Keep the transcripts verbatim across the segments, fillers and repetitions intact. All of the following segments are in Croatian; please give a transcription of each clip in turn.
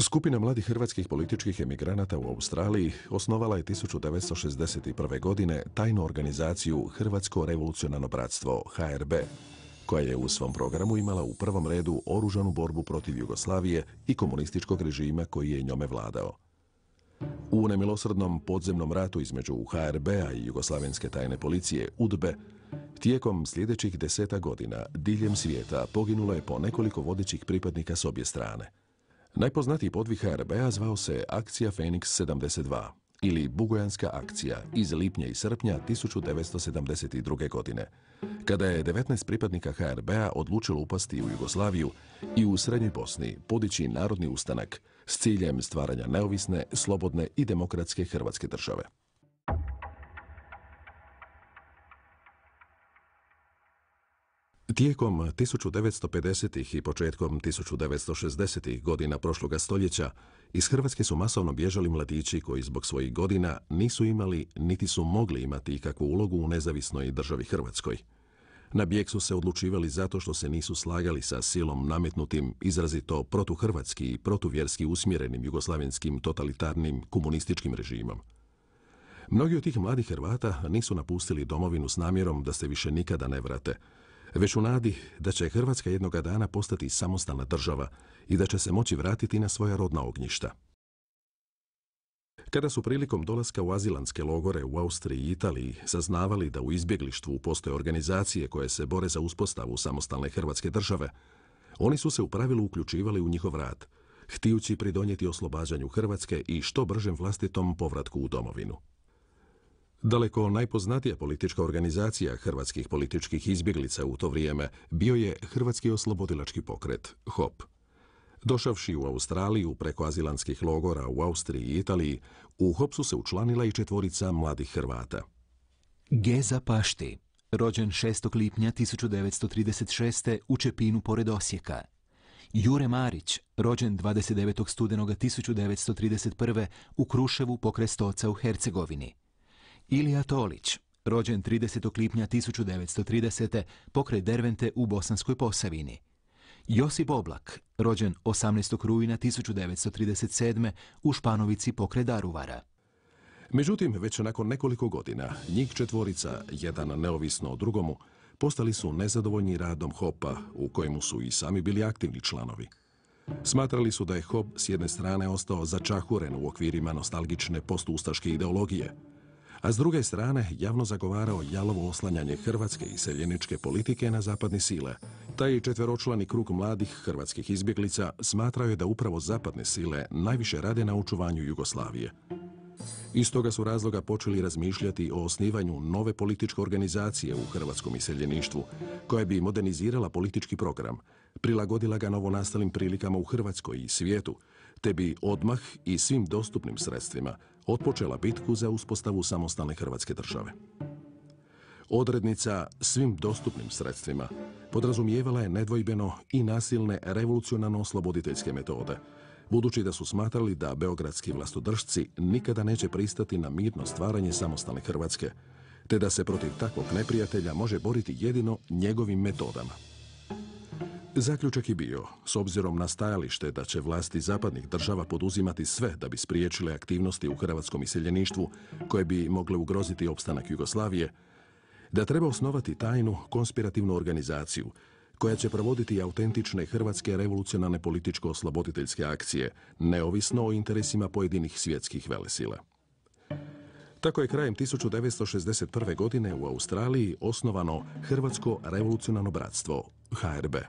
Skupina mladih hrvatskih političkih emigranata u Australiji osnovala je tisuću devetsto šezdeset prve. godine tajnu organizaciju Hrvatsko revolucionarno bratstvo H R B, koja je u svom programu imala u prvom redu oružanu borbu protiv Jugoslavije i komunističkog režima koji je njome vladao. U nemilosrdnom podzemnom ratu između H R B-a i Jugoslavenske tajne policije U D B E tijekom sljedećih deseta godina diljem svijeta poginulo je po nekoliko vodećih pripadnika s obje strane. Najpoznatiji podvig H R B-a zvao se Akcija Feniks sedamdeset dva ili Bugojanska akcija iz lipnja i srpnja tisuću devetsto sedamdeset druge. godine, kada je devetnaest pripadnika H R B-a odlučilo upasti u Jugoslaviju i u Srednjoj Bosni podići narodni ustanak s ciljem stvaranja neovisne, slobodne i demokratske Hrvatske države. Tijekom tisuću devetsto pedesetih i početkom tisuću devetsto šezdesetih godina prošloga stoljeća iz Hrvatske su masovno bježali mladići koji zbog svojih godina nisu imali niti su mogli imati ikakvu ulogu u nezavisnoj državi Hrvatskoj. Na bijeg su se odlučivali zato što se nisu slagali sa silom nametnutim, izrazito protuhrvatski i protuvjerski usmjerenim jugoslavenskim totalitarnim komunističkim režimom. Mnogi od tih mladih Hrvata nisu napustili domovinu s namjerom da se više nikada ne vrate, već u nadi da će Hrvatska jednoga dana postati samostalna država i da će se moći vratiti na svoja rodna ognjišta. Kada su prilikom dolaska u azilantske logore u Austriji i Italiji saznavali da u izbjeglištvu postoje organizacije koje se bore za uspostavu samostalne Hrvatske države, oni su se u pravilu uključivali u njihov rad, htijući pridonijeti oslobađanju Hrvatske i što bržem vlastitom povratku u domovinu. Daleko najpoznatija politička organizacija hrvatskih političkih izbjeglica u to vrijeme bio je Hrvatski oslobodilački pokret, H O P. Došavši u Australiju preko azilantskih logora u Austriji i Italiji, u H O P su se učlanila i četvorica mladih Hrvata. Geza Pašti, rođen šestog lipnja tisuću devetsto trideset šeste. u Čepinu pored Osijeka. Jure Marić, rođen dvadeset devetog studenoga tisuću devetsto trideset prve. u Kruševu pokraj Stoca u Hercegovini. Ilija Tolić, rođen tridesetog lipnja tisuću devetsto tridesete. pokraj Dervente u Bosanskoj Posavini. Josip Oblak, rođen osamnaestog rujna tisuću devetsto trideset sedme. u Španovici pokraj Daruvara. Međutim, već nakon nekoliko godina, njih četvorica, jedan neovisno o drugomu, postali su nezadovoljni radom H O P-a, u kojemu su i sami bili aktivni članovi. Smatrali su da je H O P s jedne strane ostao začahuren u okvirima nostalgične postustaške ideologije, a s druge strane javno zagovarao jalovo oslanjanje hrvatske iseljeničke politike na zapadne sile. Taj četveročlani krug mladih hrvatskih izbjeglica smatrao je da upravo zapadne sile najviše rade na očuvanju Jugoslavije. Iz toga su razloga počeli razmišljati o osnivanju nove političke organizacije u hrvatskom iseljeništvu, koja bi modernizirala politički program, prilagodila ga novonastalim prilikama u Hrvatskoj i svijetu, te bi odmah i svim dostupnim sredstvima otpočela bitku za uspostavu samostalne Hrvatske države. Odrednica svim dostupnim sredstvima podrazumijevala je nedvojbeno i nasilne revolucionarno-osloboditeljske metode, budući da su smatrali da beogradski vlastodržci nikada neće pristati na mirno stvaranje samostalne Hrvatske, te da se protiv takvog neprijatelja može boriti jedino njegovim metodama. Zaključak je bio, s obzirom na stajalište da će vlasti zapadnih država poduzimati sve da bi spriječile aktivnosti u hrvatskom iseljeništvu koje bi mogle ugroziti opstanak Jugoslavije, da treba osnovati tajnu konspirativnu organizaciju koja će provoditi autentične hrvatske revolucionarne političko-osloboditeljske akcije, neovisno o interesima pojedinih svjetskih velesila. Tako je krajem tisuću devetsto šezdeset prve. godine u Australiji osnovano Hrvatsko revolucionarno bratstvo, H R B.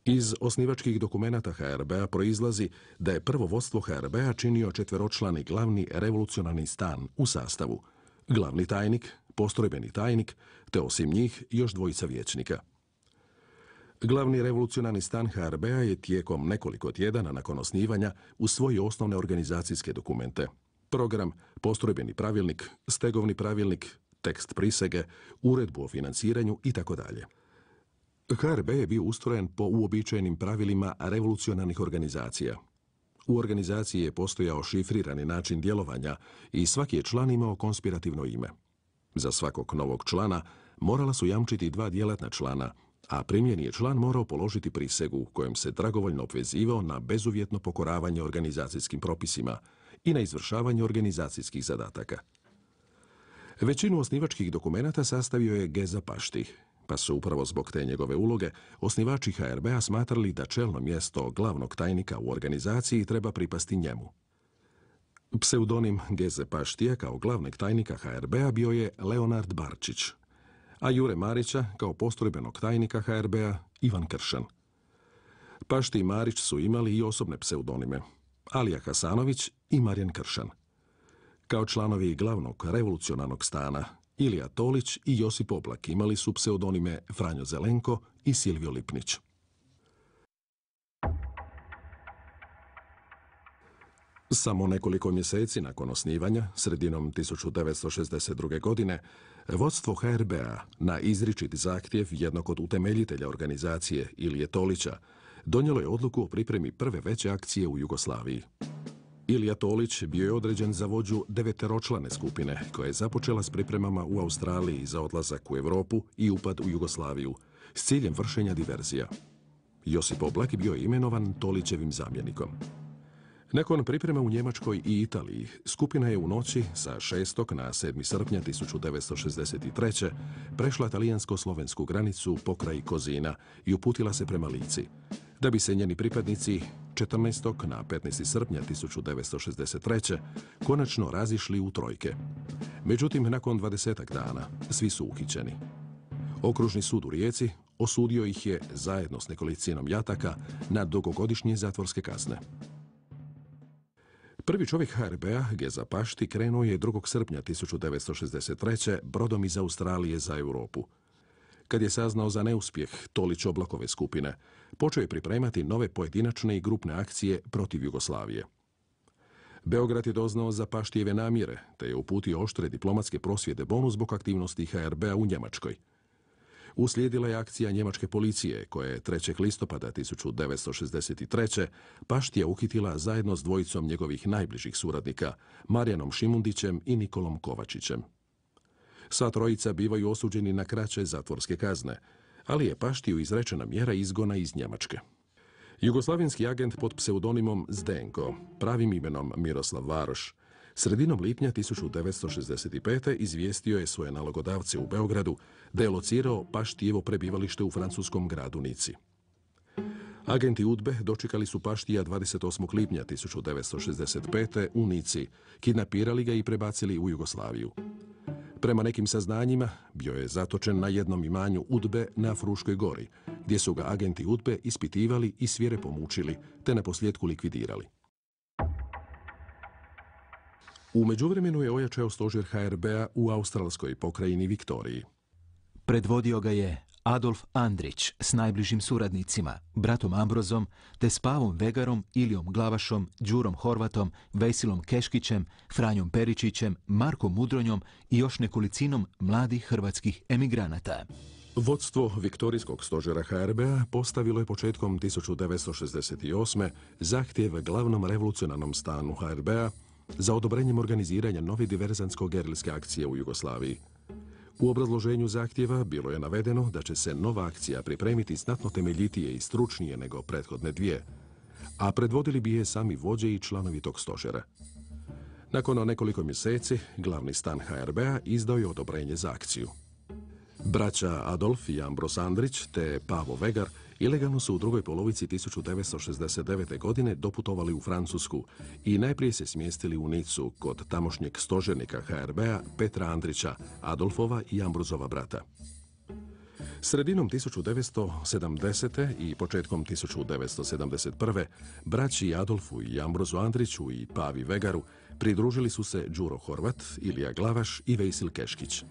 Iz osnivačkih dokumenata H R B-a proizlazi da je prvo vodstvo H R B-a činio četveročlani glavni revolucionarni stan u sastavu, glavni tajnik, postrojbeni tajnik, te osim njih još dvojica vijećnika. Glavni revolucionarni stan H R B-a je tijekom nekoliko tjedana nakon osnivanja usvojio osnovne organizacijske dokumente, program, postrojbeni pravilnik, stegovni pravilnik, tekst prisege, uredbu o financiranju itd. H R B je bio ustrojen po uobičajenim pravilima revolucionarnih organizacija. U organizaciji je postojao šifrirani način djelovanja i svaki je član imao konspirativno ime. Za svakog novog člana morala su jamčiti dva djelatna člana, a primljeni je član morao položiti prisegu kojom se dragovoljno obvezivao na bezuvjetno pokoravanje organizacijskim propisima i na izvršavanje organizacijskih zadataka. Većinu osnivačkih dokumenata sastavio je Geza Pašti, pa su upravo zbog te njegove uloge osnivači H R B-a smatrali da čelno mjesto glavnog tajnika u organizaciji treba pripasti njemu. Pseudonim Geze Paštija kao glavnog tajnika H R B-a bio je Leonard Barčić, a Jure Marića kao postrojbenog tajnika H R B-a Ivan Kršan. Pašti i Marić su imali i osobne pseudonime, Alija Hasanović i Marijan Kršan. Kao članovi glavnog revolucionarnog stana, Ilija Tolić i Josip Oblak imali su pseudonime Franjo Zelenko i Silvio Lipnić. Samo nekoliko mjeseci nakon osnivanja, sredinom tisuću devetsto šezdeset druge. godine, vodstvo H R B-a na izričit zahtjev jednog od utemeljitelja organizacije Ilije Tolića donijelo je odluku o pripremi prve veće akcije u Jugoslaviji. Ilija Tolić bio je određen za vođu deveteročlane skupine koja je započela s pripremama u Australiji za odlazak u Europu i upad u Jugoslaviju s ciljem vršenja diverzija. Josip Oblak bio je imenovan Tolićevim zamjenikom. Nakon priprema u Njemačkoj i Italiji, skupina je u noći sa šestog na sedmi srpnja tisuću devetsto šezdeset treće. prešla talijansko-slovensku granicu pokraj Kozina i uputila se prema Lici, da bi se njeni pripadnici četrnaestog na petnaesti srpnja tisuću devetsto šezdeset treće. konačno razišli u trojke. Međutim, nakon dvadesetak dana svi su uhićeni. Okružni sud u Rijeci osudio ih je zajedno s nekolicinom jataka na dugogodišnje zatvorske kazne. Prvi čovjek H R B-a, Geza Pašti, krenuo je drugog srpnja tisuću devetsto šezdeset treće. brodom iz Australije za Europu. Kad je saznao za neuspjeh Tolić-Oblakove skupine, počeo je pripremati nove pojedinačne i grupne akcije protiv Jugoslavije. Beograd je doznao za Paštijeve namjere, te je uputio oštre diplomatske prosvjede Bonu zbog aktivnosti H R B-a u Njemačkoj. Uslijedila je akcija njemačke policije, koja je trećeg listopada tisuću devetsto šezdeset treće. Paštija uhitila zajedno s dvojicom njegovih najbližih suradnika, Marijanom Šimundićem i Nikolom Kovačićem. Sva trojica bivaju osuđeni na kraće zatvorske kazne, ali je Paštiju izrečena mjera izgona iz Njemačke. Jugoslavenski agent pod pseudonimom Zdenko, pravim imenom Miroslav Varoš, sredinom lipnja tisuću devetsto šezdeset pete. izvijestio je svoje nalogodavce u Beogradu da je locirao Paštijevo prebivalište u francuskom gradu Nici. Agenti UDBE dočekali su Paštija dvadeset osmog lipnja tisuću devetsto šezdeset pete. u Nici, kidnapirali ga i prebacili u Jugoslaviju. Prema nekim saznanjima, bio je zatočen na jednom imanju UDBE na Fruškoj gori, gdje su ga agenti UDBE ispitivali i svirepo mučili, te naposljetku likvidirali. U međuvremenu je ojačao stožer H R B-a u australskoj pokrajini Viktoriji. Predvodio ga je Adolf Andrić s najbližim suradnicima, bratom Ambrozom, te s Pavom Vegarom, Ilijom Glavašom, Đurom Horvatom, Vesilom Keškićem, Franjom Peričićem, Markom Mudronjom i još nekolicinom mladih hrvatskih emigranata. Vodstvo Viktorijskog stožera H R B-a postavilo je početkom tisuću devetsto šezdeset osme. zahtjev glavnom revolucionarnom stanu H R B-a za odobrenjem organiziranja nove diverzantsko-gerilske akcije u Jugoslaviji. U obrazloženju zahtjeva bilo je navedeno da će se nova akcija pripremiti znatno temeljitije i stručnije nego prethodne dvije, a predvodili bi je sami vođe i članovi tog stožera. Nakon nekoliko mjeseci, glavni stan H R B-a izdao je odobrenje za akciju. Braća Adolf i Ambros Andrić te Pavo Vegar ilegalno su u drugoj polovici tisuću devetsto šezdeset devete. godine doputovali u Francusku i najprije se smjestili u Nicu kod tamošnjeg stožernika H R B-a Petra Andrića, Adolfova i Ambrozova brata. Sredinom tisuću devetsto sedamdesete. i početkom tisuću devetsto sedamdeset prve. braći Adolfu i Ambrozu Andriću i Pavi Vegaru pridružili su se Đuro Horvat, Ilija Glavaš i Vejsil Keškić.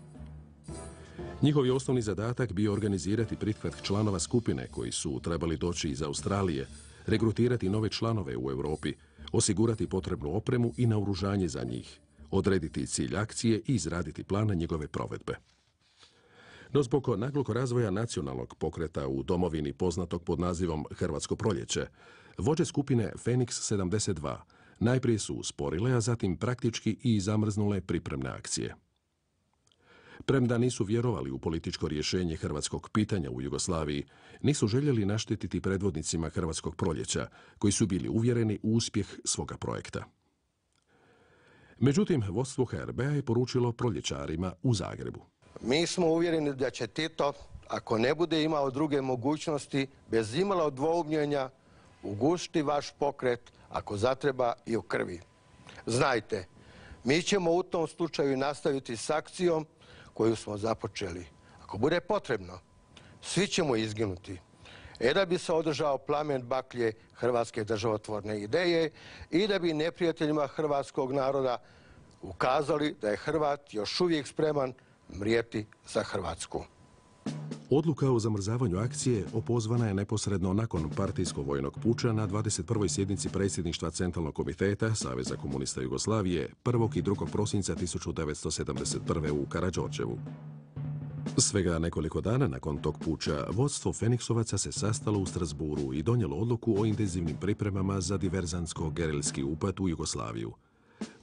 Njihov je osnovni zadatak bio organizirati prihvat članova skupine koji su trebali doći iz Australije, regrutirati nove članove u Europi, osigurati potrebnu opremu i naoružanje za njih, odrediti cilj akcije i izraditi plan njegove provedbe. No zbog naglog razvoja nacionalnog pokreta u domovini poznatog pod nazivom Hrvatsko proljeće, vođe skupine Feniks sedamdeset dva najprije su usporile, a zatim praktički i zamrznule pripremne akcije. Premda nisu vjerovali u političko rješenje hrvatskog pitanja u Jugoslaviji, nisu željeli naštetiti predvodnicima hrvatskog proljeća, koji su bili uvjereni u uspjeh svoga projekta. Međutim, vodstvo H R B-a je poručilo proljećarima u Zagrebu: Mi smo uvjereni da će Tito, ako ne bude imao druge mogućnosti, bez imalo dvoumljenja, ugušiti vaš pokret, ako zatreba i u krvi. Znajte, mi ćemo u tom slučaju nastaviti s akcijom koju smo započeli. Ako bude potrebno, svi ćemo izginuti. E da bi se održao plamen baklje hrvatske državotvorne ideje i da bi neprijateljima hrvatskog naroda ukazali da je Hrvat još uvijek spreman mrijeti za Hrvatsku. Odluka o zamrzavanju akcije opozvana je neposredno nakon partijsko-vojnog puča na dvadeset prvoj sjednici predsjedništva Centralnog komiteta Saveza komunista Jugoslavije prvog i drugog prosinca tisuću devetsto sedamdeset prve. u Karađorđevu. Svega nekoliko dana nakon tog puča, vodstvo Feniksovaca se sastalo u Strasburu i donijelo odluku o intenzivnim pripremama za diverzantsko-gerilski upad u Jugoslaviju.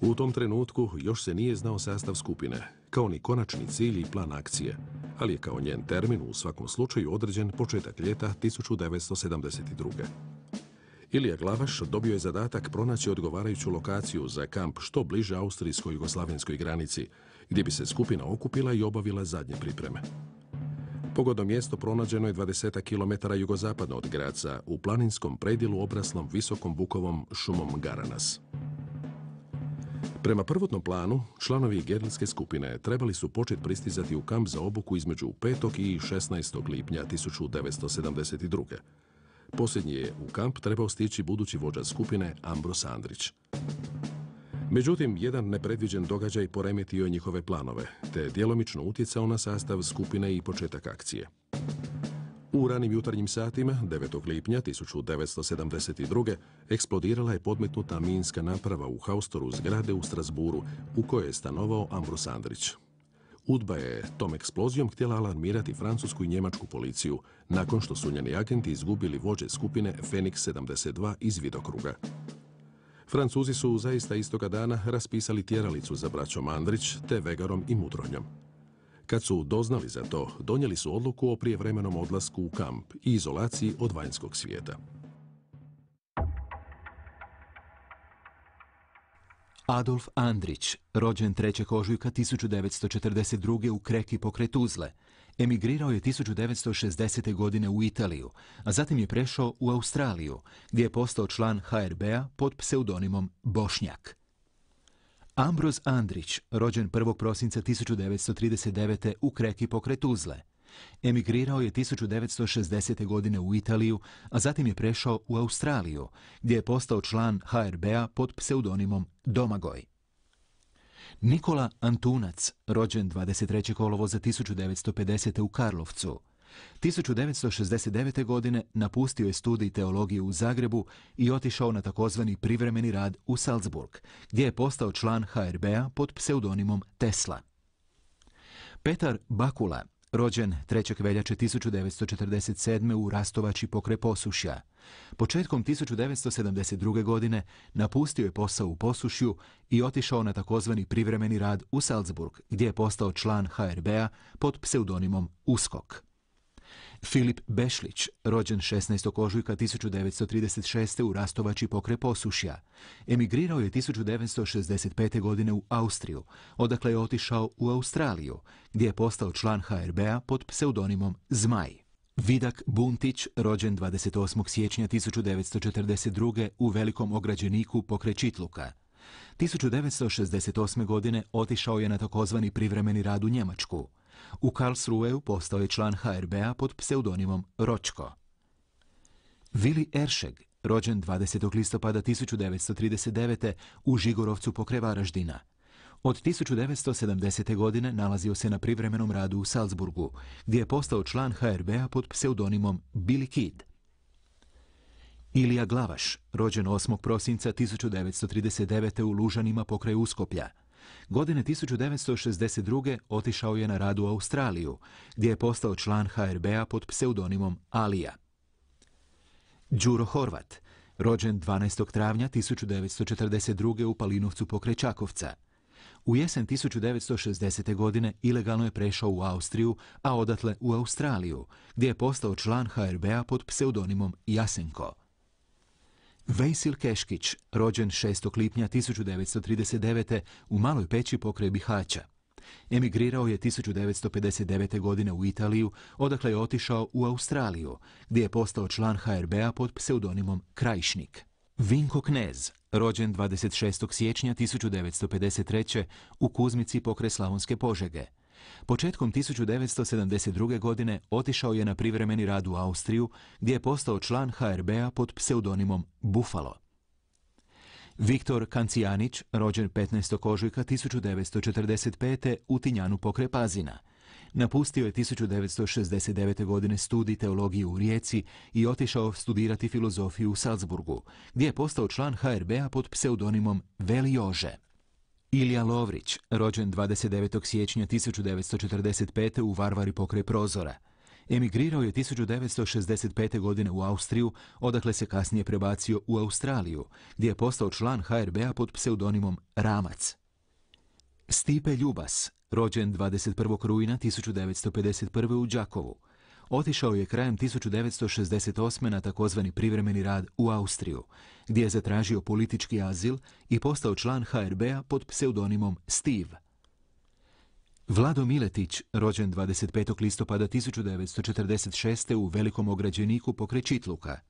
U tom trenutku još se nije znao sastav skupine, kao ni konačni cilj i plan akcije, ali je kao njen termin u svakom slučaju određen početak ljeta tisuću devetsto sedamdeset druge. Ilija Glavaš dobio je zadatak pronaći odgovarajuću lokaciju za kamp što bliže austrijsko-jugoslavenskoj granici, gdje bi se skupina okupila i obavila zadnje pripreme. Pogodno mjesto pronađeno je dvadeset kilometara jugozapadno od Graca, u planinskom predjelu obraslom visokom bukovom šumom Garanas. Prema prvotnom planu, članovi gerilske skupine trebali su početi pristizati u kamp za obuku između petog i šesnaestog lipnja tisuću devetsto sedamdeset druge. Posljednji je u kamp trebao stići budući vođa skupine Ambros Andrić. Međutim, jedan nepredviđen događaj poremetio je njihove planove, te djelomično utjecao na sastav skupine i početak akcije. U ranim jutarnjim satima, devetog lipnja tisuću devetsto sedamdeset druge. eksplodirala je podmetnuta minska naprava u haustoru zgrade u Strasburu, u kojoj je stanovao Ambros Andrić. UDBA je tom eksplozijom htjela alarmirati francusku i njemačku policiju, nakon što su njeni agenti izgubili vođe skupine Feniks sedamdeset dva iz vidokruga. Francuzi su zaista istoga dana raspisali tjeralicu za braćom Andrić, te Vegarom i Mudronjom. Kad su doznali za to, donijeli su odluku o prijevremenom odlasku u kamp i izolaciji od vanjskog svijeta. Adolf Andrić, rođen trećeg ožujka tisuću devetsto četrdeset druge. u Kreki pokraj Tuzle, emigrirao je tisuću devetsto šezdesete. godine u Italiju, a zatim je prešao u Australiju, gdje je postao član H R B-a pod pseudonimom Bošnjak. Ambros Andrić, rođen prvog prosinca tisuću devetsto trideset devete. u Kreki pokraj Tuzle, emigrirao je tisuću devetsto šezdesete. godine u Italiju, a zatim je prešao u Australiju, gdje je postao član H R B-a pod pseudonimom Domagoj. Nikola Antunac, rođen dvadeset trećeg kolovoza tisuću devetsto pedesete. u Karlovcu, tisuću devetsto šezdeset devete. godine napustio je studij teologije u Zagrebu i otišao na takozvani privremeni rad u Salzburg, gdje je postao član H R B-a pod pseudonimom Tesla. Petar Bakula, rođen trećeg veljače tisuću devetsto četrdeset sedme. u Rastovači pokraj Posušja, početkom tisuću devetsto sedamdeset druge. godine napustio je posao u Posušju i otišao na takozvani privremeni rad u Salzburg, gdje je postao član H R B-a pod pseudonimom Uskok. Filip Bešlić, rođen šesnaestog ožujka tisuću devetsto trideset šeste. u Rastovači pokraj Posušja, emigrirao je tisuću devetsto šezdeset pete. godine u Austriju, odakle je otišao u Australiju, gdje je postao član H R B-a pod pseudonimom Zmaj. Vidak Buntić, rođen dvadeset osmog siječnja tisuću devetsto četrdeset druge. u Velikom Ograđeniku pokraj Čitluka. tisuću devetsto šezdeset osme. godine otišao je na takozvani privremeni rad u Njemačku. U Karlsruheu postao je član H R B-a pod pseudonimom Ročko. Vili Eršeg, rođen dvadesetog listopada tisuću devetsto trideset devete. u Žigorovcu pokraj Varaždina. Od tisuću devetsto sedamdesete. godine nalazio se na privremenom radu u Salzburgu, gdje je postao član H R B-a pod pseudonimom Billy Kid. Ilija Glavaš, rođen osmog prosinca tisuću devetsto trideset devete. u Lužanima pokraj Uskoplja. Godine tisuću devetsto šezdeset druge. otišao je na rad u Australiju, gdje je postao član H R B-a pod pseudonimom Alija. Đuro Horvat, rođen dvanaestog travnja tisuću devetsto četrdeset druge. u Palinovcu pokraj Čakovca. U jesen tisuću devetsto šezdesete. godine ilegalno je prešao u Austriju, a odatle u Australiju, gdje je postao član H R B-a pod pseudonimom Jasenko. Vejsil Keškić, rođen šestog lipnja tisuću devetsto trideset devete. u Maloj Peći pokraj Bihaća. Emigrirao je tisuću devetsto pedeset devete. godine u Italiju, odakle je otišao u Australiju, gdje je postao član H R B-a pod pseudonimom Krajišnik. Vinko Knez, rođen dvadeset šestog siječnja tisuću devetsto pedeset treće. u Kuzmici pokraj Slavonske Požege. Početkom tisuću devetsto sedamdeset druge. godine otišao je na privremeni rad u Austriju, gdje je postao član H R B-a pod pseudonimom Buffalo. Viktor Kancijanić, rođen petnaestog ožujka tisuću devetsto četrdeset pete. u Tinjanu pokraj Pazina. Napustio je tisuću devetsto šezdeset devete. godine studij teologije u Rijeci i otišao studirati filozofiju u Salzburgu, gdje je postao član H R B-a pod pseudonimom Veli Jože. Ilija Lovrić, rođen dvadeset devetog siječnja tisuću devetsto četrdeset pete. u Varvari pokraj Prozora. Emigrirao je tisuću devetsto šezdeset pete. godine u Austriju, odakle se kasnije prebacio u Australiju, gdje je postao član H R B-a pod pseudonimom Ramac. Stipe Ljubas, rođen dvadeset prvog rujna tisuću devetsto pedeset prve. u Đakovu. Otišao je krajem tisuću devetsto šezdeset osme. na takozvani privremeni rad u Austriju, gdje je zatražio politički azil i postao član H R B-a pod pseudonimom Steve. Vlado Miletić, rođen dvadeset petog listopada tisuću devetsto četrdeset šeste. u Velikom Ograđeniku pokraj Čitluka.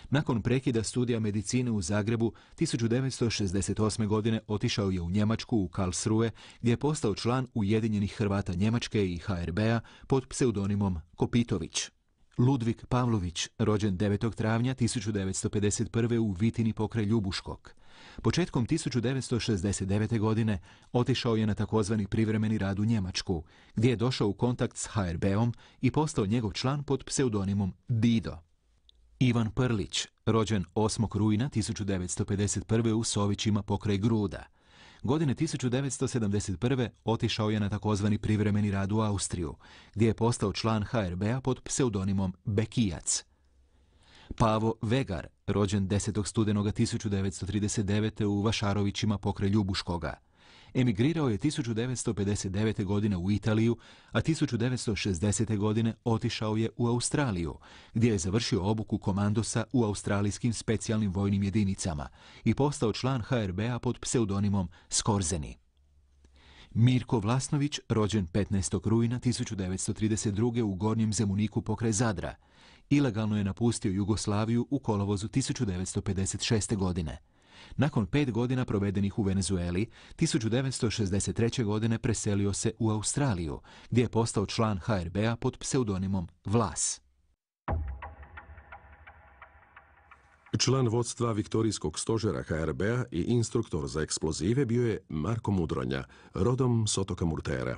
Nakon prekida studija medicine u Zagrebu, tisuću devetsto šezdeset osme. godine otišao je u Njemačku u Karlsruhe, gdje je postao član Ujedinjenih Hrvata Njemačke i H R B-a pod pseudonimom Kopitović. Ludvik Pavlović, rođen devetog travnja tisuću devetsto pedeset prve. u Vitini pokraj Ljubuškog. Početkom tisuću devetsto šezdeset devete. godine otišao je na takozvani privremeni rad u Njemačku, gdje je došao u kontakt s H R B-om i postao njegov član pod pseudonimom Dido. Ivan Prlić, rođen osmog rujna tisuću devetsto pedeset prve. u Sovićima pokraj Gruda. Godine tisuću devetsto sedamdeset prve. otišao je na takozvani privremeni rad u Austriju, gdje je postao član H R B-a pod pseudonimom Bekijac. Pavo Vegar, rođen desetog studenoga tisuću devetsto trideset devete. u Vašarovićima pokraj Ljubuškoga. Emigrirao je tisuću devetsto pedeset devete. godine u Italiju, a tisuću devetsto šezdesete. godine otišao je u Australiju, gdje je završio obuku komandosa u australijskim specijalnim vojnim jedinicama i postao član H R B-a pod pseudonimom Skorzeni. Mirko Vlasnović, rođen petnaestog rujna tisuću devetsto trideset druge. u Gornjem Zemuniku pokraj Zadra. Ilegalno je napustio Jugoslaviju u kolovozu tisuću devetsto pedeset šeste. godine. Nakon pet godina provedenih u Venezueli, tisuću devetsto šezdeset treće. godine preselio se u Australiju, gdje je postao član H R B-a pod pseudonimom Vlas. Član vodstva Viktorijskog stožera H R B-a i instruktor za eksplozive bio je Marko Mudronja, rodom s otoka Murtera.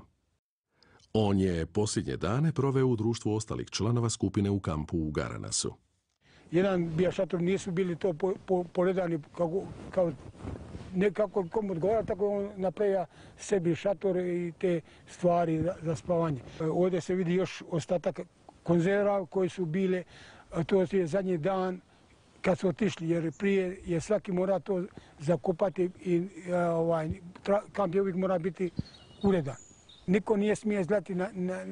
On je posljednje dane proveo u društvu ostalih članova skupine u kampu u Garanasu. Jedan bija šator, nisu bili to po, po, poredani kako, kao, ne kako kom odgovara, tako on napravio sebi šator i te stvari za, za spavanje. Ovdje se vidi još ostatak konzerva koji su bile, to je zadnji dan kad su otišli, jer prije je svaki mora to zakopati i ovaj, tra, kamp je uvijek mora biti uredan. Niko nije smije izlati na, na,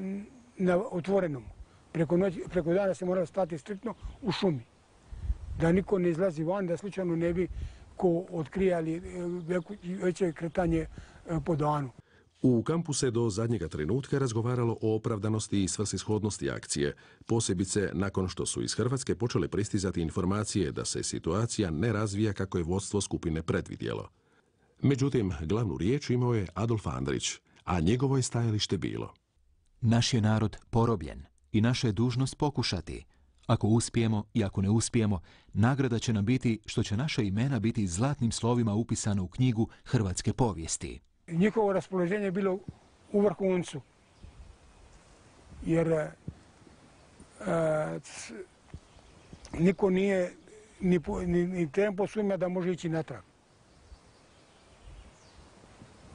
na otvorenom. Preko, noć, preko dana se mora stati striktno u šumi. Da niko ne izlazi van, da slučajno ne bi ko otkrijali veće kretanje po danu. U kampu se do zadnjega trenutka razgovaralo o opravdanosti i svrsishodnosti akcije, posebice nakon što su iz Hrvatske počele pristizati informacije da se situacija ne razvija kako je vodstvo skupine predvidjelo. Međutim, glavnu riječ imao je Adolf Andrić, a njegovo je stajalište bilo: naš je narod porobljen i naša je dužnost pokušati. Ako uspijemo i ako ne uspijemo, nagrada će nam biti što će naša imena biti zlatnim slovima upisana u knjigu hrvatske povijesti. Njihovo raspoloženje je bilo u vrhuncu, jer e, c, niko nije ni, ni, ni tempo svima da može ići natrag.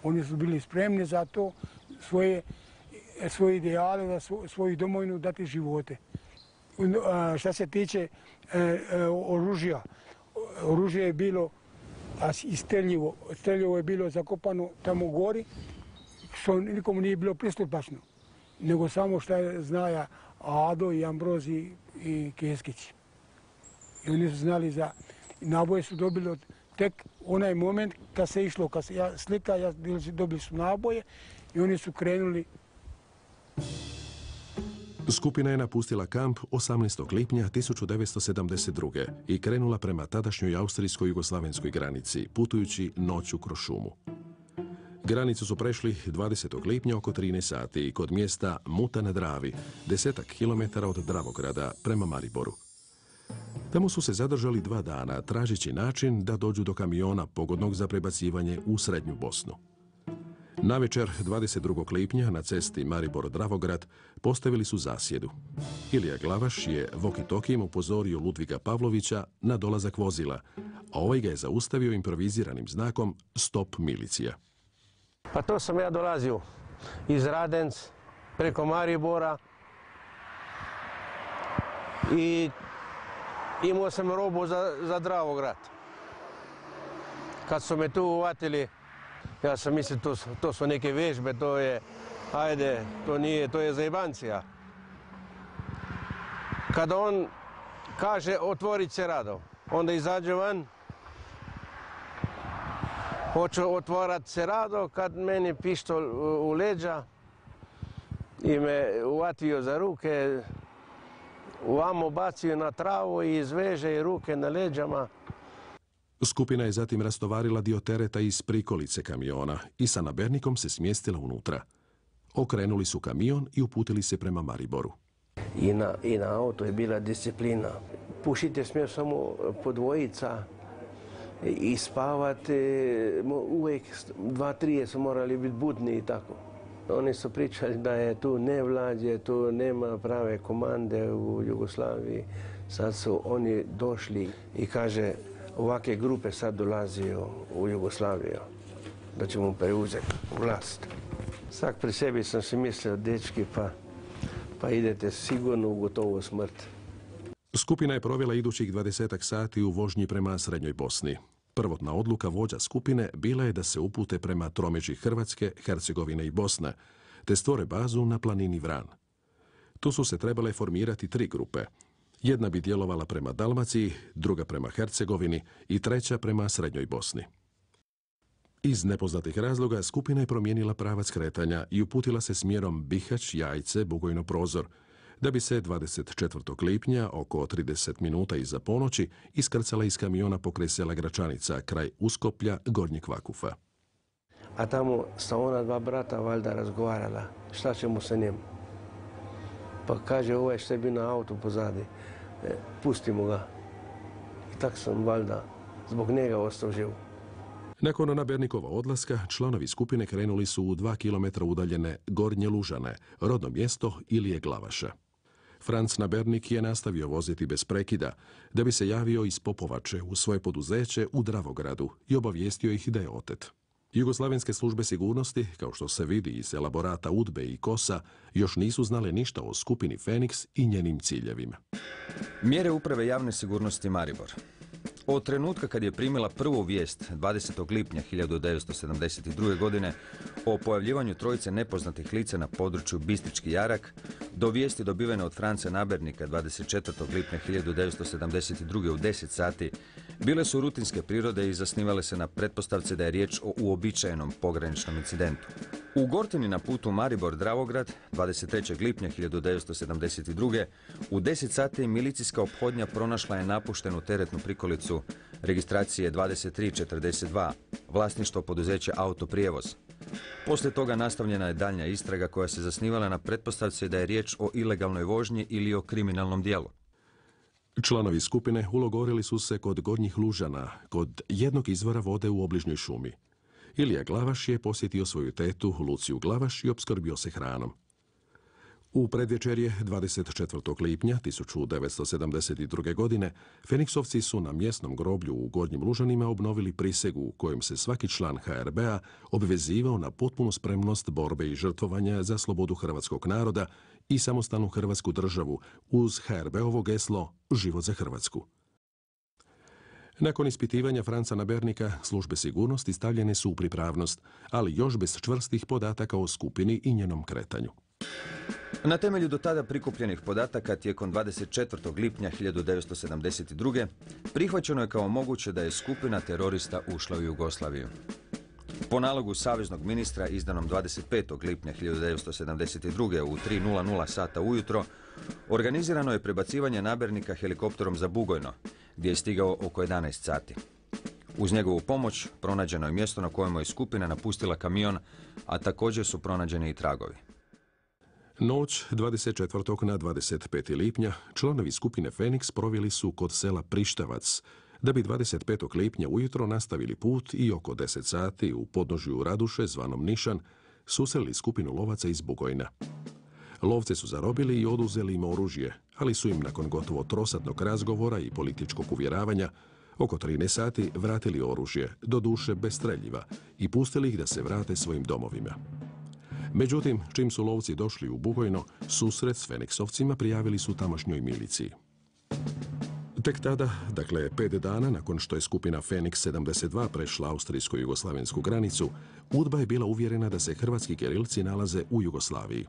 Oni su bili spremni za to, svoje, svoje ideale, za svo, svoju domovinu dati živote. A, šta se tiče e, e, oružja, oružje je bilo a i streljivo. Streljivo je bilo zakopano tamo u gori, što nikomu nije bilo pristupačno, nego samo što je znaja Ado i Ambrozi i Keskić. I oni su znali za naboje su dobili od tek onaj moment kad se išlo, kad se ja slika, ja, dobili su naboje i oni su krenuli. Skupina je napustila kamp osamnaestog lipnja tisuću devetsto sedamdeset druge. i krenula prema tadašnjoj austrijsko-jugoslavenskoj granici, putujući noću kroz šumu. Granicu su prešli dvadesetog lipnja oko trinaest sati kod mjesta Muta na Dravi, desetak kilometara od Dravograda prema Mariboru. Tamo su se zadržali dva dana, tražeći način da dođu do kamiona pogodnog za prebacivanje u srednju Bosnu. Navečer dvadeset drugog lipnja na cesti Maribor-Dravograd postavili su zasjedu. Ilija Glavaš je walkie-talkijem upozorio Ludviga Pavlovića na dolazak vozila, a ovaj ga je zaustavio improviziranim znakom Stop milicija. Pa to sam ja dolazio iz Radenc preko Maribora i imao sam robu za, za Dravograd. Kad su me tu uvatili, ja sam mislio to, to su neke vježbe, to je, ajde, to nije, to je zajebancija. Kada on kaže otvorit se rado, onda izađe van, hoću otvorat se rado, kad meni pištol u leđa i me uvatio za ruke, ovamo bacio na travu i izveže ruke na leđama. Skupina je zatim rastovarila dio tereta iz prikolice kamiona i sa nabernikom se smjestila unutra. Okrenuli su kamion i uputili se prema Mariboru. I na, i na auto je bila disciplina. Pušite smije samo po dvojica i spavati. Uvijek dva, trije su morali biti budni i tako. Oni su pričali da je tu nevlađe, tu nema prave komande u Jugoslaviji. Sad su oni došli i kaže ovakve grupe sad dolazio u Jugoslaviju, da ćemo preuzeti vlast. Svak pri sebi sam si mislio, dečki, pa, pa idete sigurno u gotovu smrt. Skupina je provela idućih dvadesetak sati u vožnji prema Srednjoj Bosni. Prvotna odluka vođa skupine bila je da se upute prema tromeđi Hrvatske, Hercegovine i Bosne, te stvore bazu na planini Vran. Tu su se trebale formirati tri grupe. Jedna bi djelovala prema Dalmaciji, druga prema Hercegovini i treća prema Srednjoj Bosni. Iz nepoznatih razloga skupina je promijenila pravac kretanja i uputila se smjerom Bihać, Jajce, Bugojno, Prozor, da bi se dvadeset četvrtog lipnja, oko trideset minuta iza ponoći, iskrcala iz kamiona pokraj sela Gračanica, kraj Uskoplja, Gornjeg Vakufa. A tamo sa ona dva brata valjda razgovarala, šta ćemo sa njim. Pa kaže, ovaj što je bio na autu pozadi, e, pustimo ga. I tak sam valjda zbog njega ostao živ. Nakon nabernikova odlaska, članovi skupine krenuli su u dva kilometra udaljene Gornje Lužane, rodno mjesto Ilije Glavaša. Franc Nabernik je nastavio voziti bez prekida, da bi se javio iz Popovače u svoje poduzeće u Dravogradu i obavijestio ih da je otet. Jugoslavenske službe sigurnosti, kao što se vidi iz elaborata UDBE i KOS-a, još nisu znale ništa o skupini Feniks i njenim ciljevima. Mjere uprave javne sigurnosti Maribor. Od trenutka kad je primila prvu vijest dvadesetog lipnja hiljadu devetsto sedamdeset druge. godine o pojavljivanju trojice nepoznatih lica na području Bistrički jarak, do vijesti dobivene od Franca Nabernika dvadeset četvrtog lipnja hiljadu devetsto sedamdeset druge. u deset sati, bile su rutinske prirode i zasnivale se na pretpostavci da je riječ o uobičajenom pograničnom incidentu. U Gortini na putu Maribor-Dravograd dvadeset trećeg lipnja hiljadu devetsto sedamdeset druge. u deset sati milicijska ophodnja pronašla je napuštenu teretnu prikolicu registracije dvadeset tri četrdeset dva, vlasništvo poduzeća Autoprijevoz. Poslije toga nastavljena je daljnja istraga koja se zasnivala na pretpostavci da je riječ o ilegalnoj vožnji ili o kriminalnom djelu. Članovi skupine ulogorili su se kod Gornjih Lužana, kod jednog izvora vode u obližnjoj šumi. Ilija Glavaš je posjetio svoju tetu, Luciju Glavaš, i opskrbio se hranom. U predvečerje dvadeset četvrtog lipnja tisuću devetsto sedamdeset druge. godine Feniksovci su na mjesnom groblju u Gornjim Lužanima obnovili prisegu u kojem se svaki član H R B-a obvezivao na potpunu spremnost borbe i žrtvovanja za slobodu hrvatskog naroda i samostalnu hrvatsku državu uz H R B-ovo geslo Život za Hrvatsku. Nakon ispitivanja Franca Nabernika, službe sigurnosti stavljene su u pripravnost, ali još bez čvrstih podataka o skupini i njenom kretanju. Na temelju do tada prikupljenih podataka tijekom dvadeset četvrtog lipnja hiljadu devetsto sedamdeset druge. prihvaćeno je kao moguće da je skupina terorista ušla u Jugoslaviju. Po nalogu saveznog ministra izdanom dvadeset petog lipnja hiljadu devetsto sedamdeset druge. u tri nula nula sata ujutro organizirano je prebacivanje Nabernika helikopterom za Bugojno, gdje je stigao oko jedanaest sati. Uz njegovu pomoć pronađeno je mjesto na kojemu je skupina napustila kamion, a također su pronađeni i tragovi. Noć dvadeset četvrtog na dvadeset peti lipnja članovi skupine Feniks proveli su kod sela Prištavac, da bi dvadeset petog lipnja ujutro nastavili put i oko deset sati u podnožju Raduše, zvanom Nišan, susreli skupinu lovaca iz Bugojna. Lovce su zarobili i oduzeli im oružje, ali su im nakon gotovo trosatnog razgovora i političkog uvjeravanja oko trinaest sati vratili oružje, doduše bez streljiva, i pustili ih da se vrate svojim domovima. Međutim, čim su lovci došli u Bugojno, susret s Feniksovcima prijavili su tamošnjoj miliciji. Tek tada, dakle pet dana nakon što je skupina Feniks sedamdeset dva prešla austrijsko-jugoslavensku granicu, UDBA je bila uvjerena da se hrvatski gerilci nalaze u Jugoslaviji.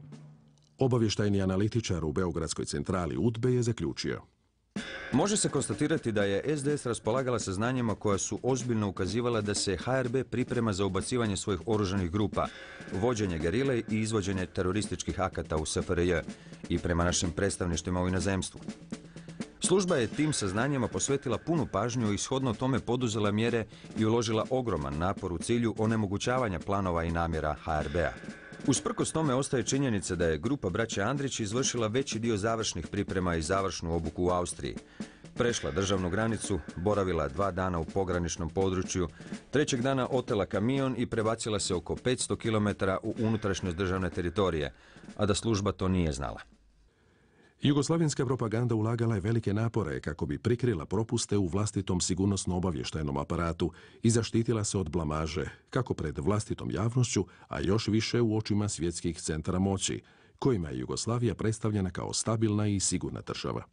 Obavještajni analitičar u Beogradskoj centrali UDBE je zaključio: Može se konstatirati da je es de es raspolagala saznanjima koja su ozbiljno ukazivala da se ha er be priprema za ubacivanje svojih oružanih grupa, vođenje gerile i izvođenje terorističkih akata u es fe er je i prema našim predstavništvima u inozemstvu. Služba je tim saznanjima posvetila punu pažnju i shodno tome poduzela mjere i uložila ogroman napor u cilju onemogućavanja planova i namjera ha er bea. Usprkos tome ostaje činjenica da je grupa braće Andrić izvršila veći dio završnih priprema i završnu obuku u Austriji. Prešla državnu granicu, boravila dva dana u pograničnom području, trećeg dana otela kamion i prebacila se oko petsto kilometara u unutrašnjost državne teritorije, a da služba to nije znala. Jugoslavenska propaganda ulagala je velike napore kako bi prikrila propuste u vlastitom sigurnosno-obavještajnom aparatu i zaštitila se od blamaže, kako pred vlastitom javnošću, a još više u očima svjetskih centara moći, kojima je Jugoslavija predstavljena kao stabilna i sigurna država.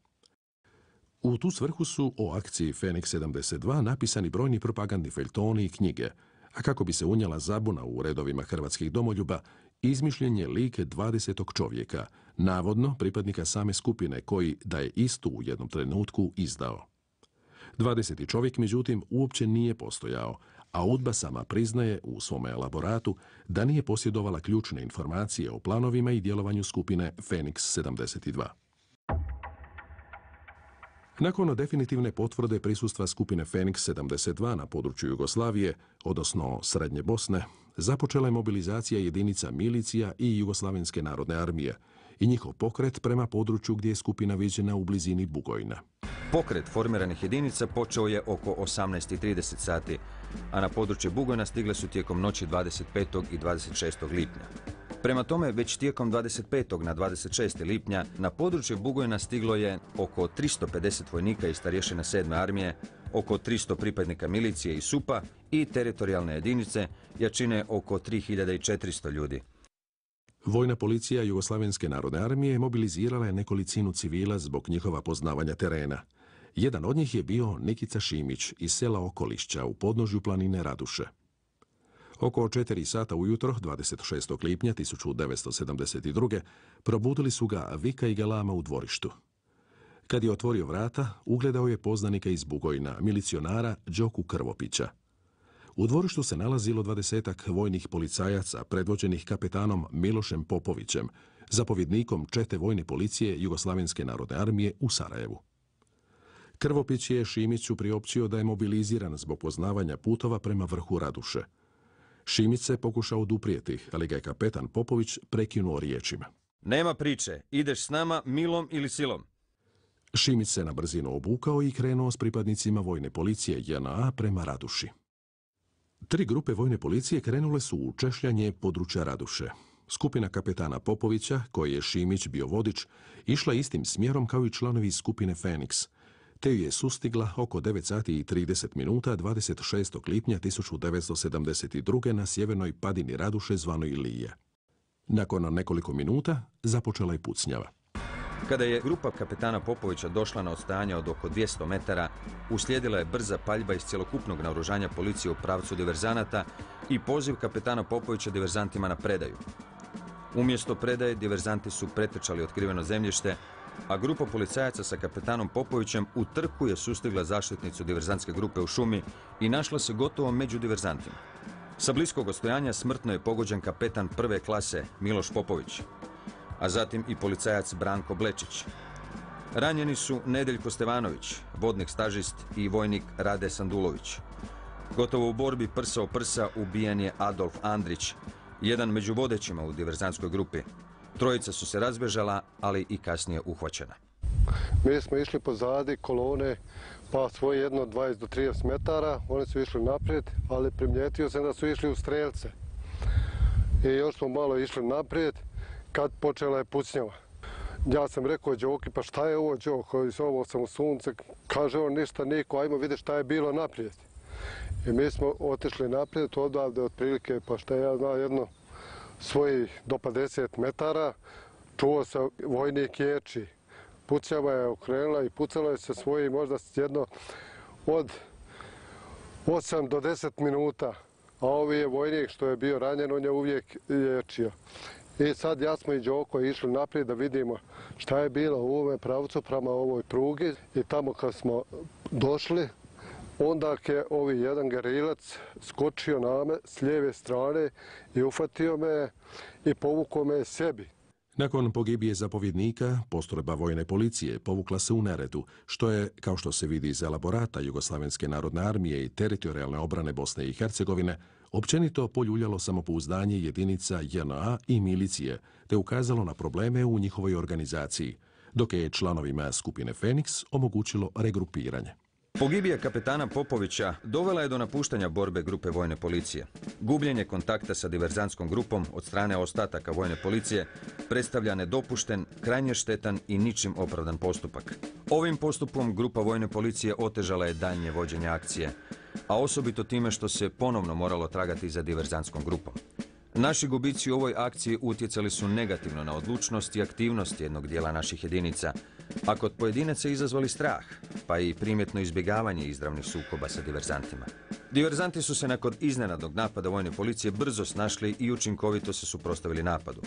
U tu svrhu su o akciji Feniks sedamdeset dva napisani brojni propagandni feljtoni i knjige, a kako bi se unijela zabuna u redovima hrvatskih domoljuba, izmišljen je lik dvadesetog čovjeka, navodno pripadnika same skupine koji da je istu u jednom trenutku izdao. dvadeseti čovjek, međutim, uopće nije postojao, a UDBA sama priznaje u svome elaboratu da nije posjedovala ključne informacije o planovima i djelovanju skupine Feniks sedamdeset dva. Nakon definitivne potvrde prisustva skupine Feniks sedamdeset dva na području Jugoslavije, odnosno Srednje Bosne, započela je mobilizacija jedinica milicija i Jugoslavenske narodne armije i njihov pokret prema području gdje je skupina viđena u blizini Bugojna. Pokret formiranih jedinica počeo je oko osamnaest i trideset sati, a na područje Bugojna stigle su tijekom noći dvadeset petog i dvadeset šestog lipnja. Prema tome, već tijekom dvadeset petog na dvadeset šesti lipnja na područje Bugojna stiglo je oko tristo pedeset vojnika iz starješina sedme armije, oko tristo pripadnika milicije i supa i teritorijalne jedinice jačine oko tri hiljade četiristo ljudi. Vojna policija Jugoslavenske narodne armije mobilizirala je nekolicinu civila zbog njihova poznavanja terena. Jedan od njih je bio Nikica Šimić iz sela Okolišća u podnožju planine Raduše. Oko četiri sata ujutro, dvadeset šestog lipnja tisuću devetsto sedamdeset druge. probudili su ga vika i galama u dvorištu. Kad je otvorio vrata, ugledao je poznanika iz Bugojna, milicionara Đoku Krvopića. U dvorištu se nalazilo dvadesetak vojnih policajaca predvođenih kapetanom Milošem Popovićem, zapovjednikom čete vojne policije Jugoslavenske narodne armije u Sarajevu. Krvopić je Šimiću priopćio da je mobiliziran zbog poznavanja putova prema vrhu Raduše. Šimić se pokušao oduprijeti, ali ga je kapetan Popović prekinuo riječima: Nema priče, ideš s nama milom ili silom. Šimić se na brzinu obukao i krenuo s pripadnicima vojne policije je en a prema Raduši. Tri grupe vojne policije krenule su u češljanje područja Raduše. Skupina kapetana Popovića, koji je Šimić bio vodič, išla istim smjerom kao i članovi skupine Feniks, te ju je sustigla oko devet sati i trideset minuta dvadeset šestog lipnja tisuću devetsto sedamdeset druge. na sjevernoj padini Raduše zvanoj Ilije. Nakon nekoliko minuta započela je pucnjava. Kada je grupa kapetana Popovića došla na odstajanje od oko dvjesto metara, uslijedila je brza paljba iz cjelokupnog naoružanja policije u pravcu diverzanata i poziv kapetana Popovića diverzantima na predaju. Umjesto predaje, diverzanti su pretrčali otkriveno zemljište, a grupa policajaca sa kapetanom Popovićem u trku je sustigla zaštitnicu diverzantske grupe u šumi i našla se gotovo među diverzantima. Sa bliskog odstojanja smrtno je pogođen kapetan prve klase Miloš Popović, a zatim i policajac Branko Blečić. Ranjeni su Nedeljko Stevanović, vodnik stažist, i vojnik Rade Sandulović. Gotovo u borbi prsa o prsa ubijen je Adolf Andrić, jedan među vodećima u diverzantskoj grupi. Trojica su se razbježala, ali i kasnije uhvaćena. Mi smo išli pozadi kolone, pa svoje jedno dvadeset do trideset metara, oni su išli naprijed, ali primijetio sam da su išli u strelce. I još smo malo išli naprijed, kad počela je pucnjava. Ja sam rekao Đoki, pa šta je ovo Đoko, ovo sam u sunce, kaže on ništa niko, ajmo vidjeti šta je bilo naprijed. I mi smo otišli naprijed, odavde otprilike, pa šta ja znam, jedno svojih do pedeset metara, čuo se vojnik ječi. Pucnjava je okrenula i pucala je se svoji možda jedno od osam do deset minuta, a ovi je vojnik što je bio ranjen, on je uvijek ječio. I sad ja smo i Đoko išli naprijed da vidimo šta je bilo u ovome pravcu prema ovoj prugi i tamo kad smo došli, onda je ovi jedan gerilac skočio na me s lijeve strane i ufatio me i povukao me sebi. Nakon pogibije zapovjednika, postrojba vojne policije povukla se u Neretu, što je, kao što se vidi iz elaborata Jugoslavenske narodne armije i teritorijalne obrane Bosne i Hercegovine, općenito poljuljalo samopouzdanje jedinica J N A i milicije, te ukazalo na probleme u njihovoj organizaciji, dok je članovima skupine Feniks omogućilo regrupiranje. Pogibija kapetana Popovića dovela je do napuštanja borbe grupe vojne policije. Gubljenje kontakta sa diverzantskom grupom od strane ostataka vojne policije predstavlja nedopušten, krajnje štetan i ničim opravdan postupak. Ovim postupkom grupa vojne policije otežala je daljnje vođenje akcije, a osobito time što se ponovno moralo tragati za diverzantskom grupom. Naši gubici u ovoj akciji utjecali su negativno na odlučnost i aktivnost jednog dijela naših jedinica, a kod pojedinaca izazvali strah, pa i primjetno izbjegavanje izravnih sukoba sa diverzantima. Diverzanti su se nakon iznenadnog napada vojne policije brzo snašli i učinkovito se suprotstavili napadu.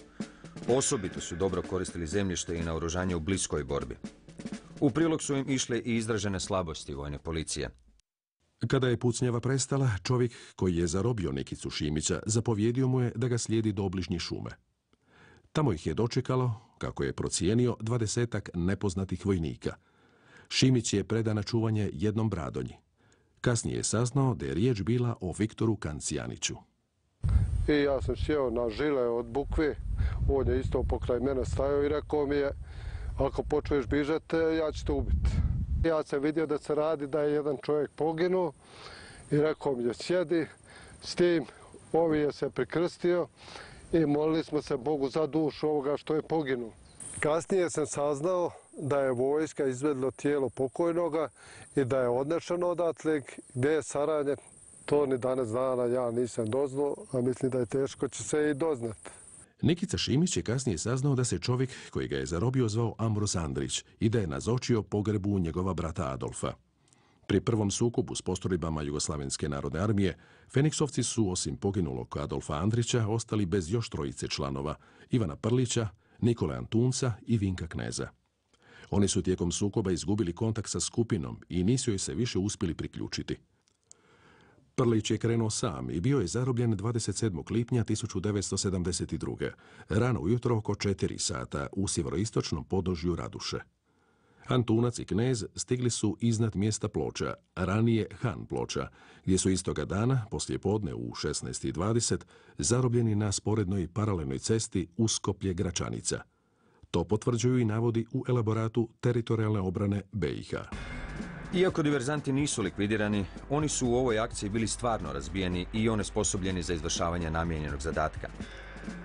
Osobito su dobro koristili zemljište i naoružanje u bliskoj borbi. U prilog su im išle i izražene slabosti vojne policije. Kada je pucnjava prestala, čovjek koji je zarobio Nikicu Šimića zapovjedio mu je da ga slijedi do obližnje šume. Tamo ih je dočekalo, kako je procijenio, dvadesetak nepoznatih vojnika. Šimić je predan na čuvanje jednom Bradonji. Kasnije je saznao da je riječ bila o Viktoru Kancijaniću. I ja sam sjeo na žile od bukve, on je isto pokraj mene stajao i rekao mi je, ako počuješ bižati, ja ću te ubiti. Ja sam vidio da se radi da je jedan čovjek poginuo i rekao mi je sjedi s tim, ovi je se prikrstio i molili smo se Bogu za dušu ovoga što je poginuo. Kasnije sam saznao da je vojska izvedlo tijelo pokojnoga i da je odnešeno odatle, gdje je saranje, to ni danas dana ja nisam doznao, a mislim da je teško će se i doznati. Nikica Šimić je kasnije saznao da se čovjek koji ga je zarobio zvao Ambros Andrić i da je nazočio pogrebu njegova brata Adolfa. Pri prvom sukobu s postrojbama Jugoslavenske narodne armije, Feniksovci su, osim poginulog Adolfa Andrića, ostali bez još trojice članova, Ivana Prlića, Nikole Antunca i Vinka Kneza. Oni su tijekom sukoba izgubili kontakt sa skupinom i nisu joj se više uspjeli priključiti. Prlić je krenuo sam i bio je zarobljen dvadeset sedmog lipnja tisuću devetsto sedamdeset druge. rano ujutro oko četiri sata u sjeveroistočnom podnožju Raduše. Antunac i Knez stigli su iznad mjesta Ploča, ranije Han Ploča, gdje su istoga dana, poslije podne u šesnaest i dvadeset, zarobljeni na sporednoj paralelnoj cesti Uskoplje-Gračanica. To potvrđuju i navodi u elaboratu teritorijalne obrane B i H. Iako diverzanti nisu likvidirani, oni su u ovoj akciji bili stvarno razbijeni i onesposobljeni za izvršavanje namijenjenog zadatka.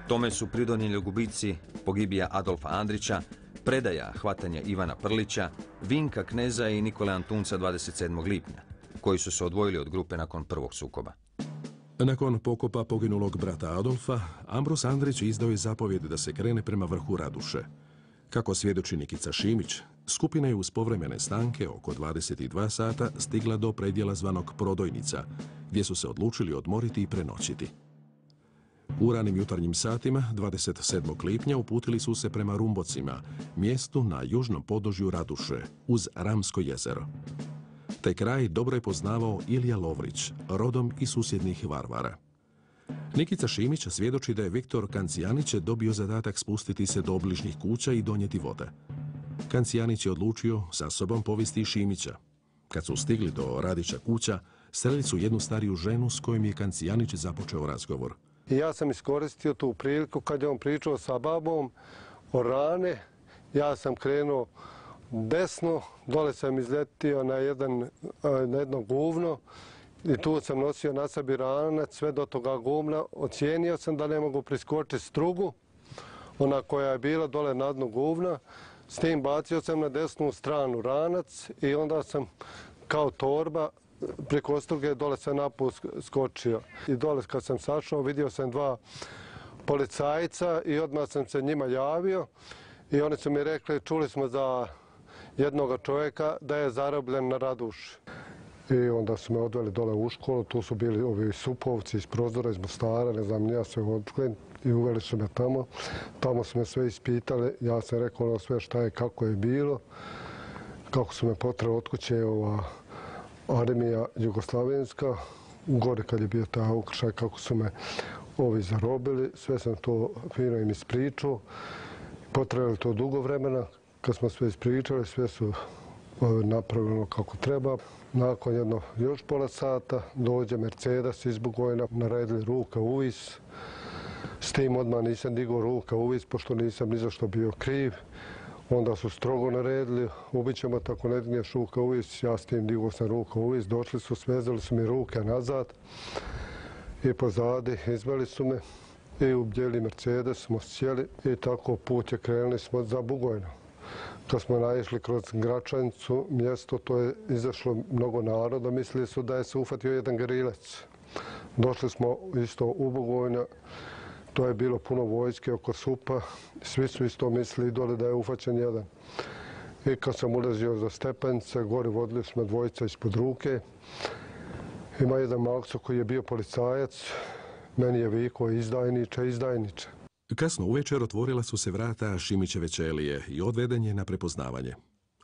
Tome su pridonijeli gubici pogibija Adolfa Andrića, predaja hvatanja Ivana Prlića, Vinka Kneza i Nikole Antunca dvadeset sedmog lipnja, koji su se odvojili od grupe nakon prvog sukoba. Nakon pokopa poginulog brata Adolfa, Ambros Andrić izdao je zapovjed da se krene prema vrhu Raduše. Kako svjedoči Nikica Šimić, skupina je uz povremene stanke oko dvadeset dva sata stigla do predjela zvanog Prodojnica, gdje su se odlučili odmoriti i prenoćiti. U ranim jutarnjim satima, dvadeset sedmog lipnja, uputili su se prema Rumbocima, mjestu na južnom podnožju Raduše, uz Ramsko jezero. Taj kraj dobro je poznavao Ilija Lovrić, rodom iz susjednih Varvara. Nikica Šimić svjedoči da je Viktor Kancijanić dobio zadatak spustiti se do obližnjih kuća i donijeti vode. Kancijanić je odlučio sa sobom povesti i Šimića. Kad su stigli do Radića kuća, sreli su jednu stariju ženu s kojom je Kancijanić započeo razgovor. I ja sam iskoristio tu priliku kad je on pričao sa babom o rane. Ja sam krenuo desno, dole sam izletio na, jedan, na jedno guvno i tu sam nosio na sebi ranac sve do toga guvna. Ocijenio sam da ne mogu priskočiti strugu, ona koja je bila dole na dnu guvna. S tim bacio sam na desnu stranu ranac i onda sam kao torba preko struge dole sam naput skočio. I dole kad sam sašao vidio sam dva policajca i odmah sam se njima javio i oni su mi rekli, čuli smo za jednog čovjeka da je zarobljen na Raduši. I onda su me odveli dole u školu, tu su bili ovi supovci iz Prozora, iz Mostara, ne znam, ja sve odklen i uveli su me tamo. Tamo su me sve ispitali, ja sam rekao ono sve šta je, kako je bilo, kako su me potrali od kuće ova armija jugoslavenska, gore kad je bio taj ukršaj, kako su me ovi zarobili, sve sam to fino im ispričao. Potrebali to dugo vremena, kad smo sve ispričali, sve su napravljeno kako treba. Nakon jedno još pola sata dođe Mercedes iz Bugojna, naredili ruka u vis. S tim odmah nisam digao ruka u vis, pošto nisam ni za što bio kriv. Onda su strogo naredili, ubit ćemo tako ne digneš ruka u vis. Ja s tim digao sam ruka u vis, došli su, svezali su mi ruke nazad i pozadi izveli su me i u bijeli Mercedes smo sjeli i tako put je krenuli smo za Bugojno. Kad smo naišli kroz Gračanicu, mjesto, to je izašlo mnogo naroda, mislili su da je se ufatio jedan gerilec. Došli smo isto u Bugojno, to je bilo puno vojske oko Supa, svi su isto mislili dole da je ufaćen jedan. I kad sam ulazio za stepenice, gore vodili smo dvojica ispod ruke. Ima jedan makso koji je bio policajac, meni je vikao izdajniče, izdajniče. Kasno uvečer otvorila su se vrata Šimićeve ćelije i odveden je na prepoznavanje.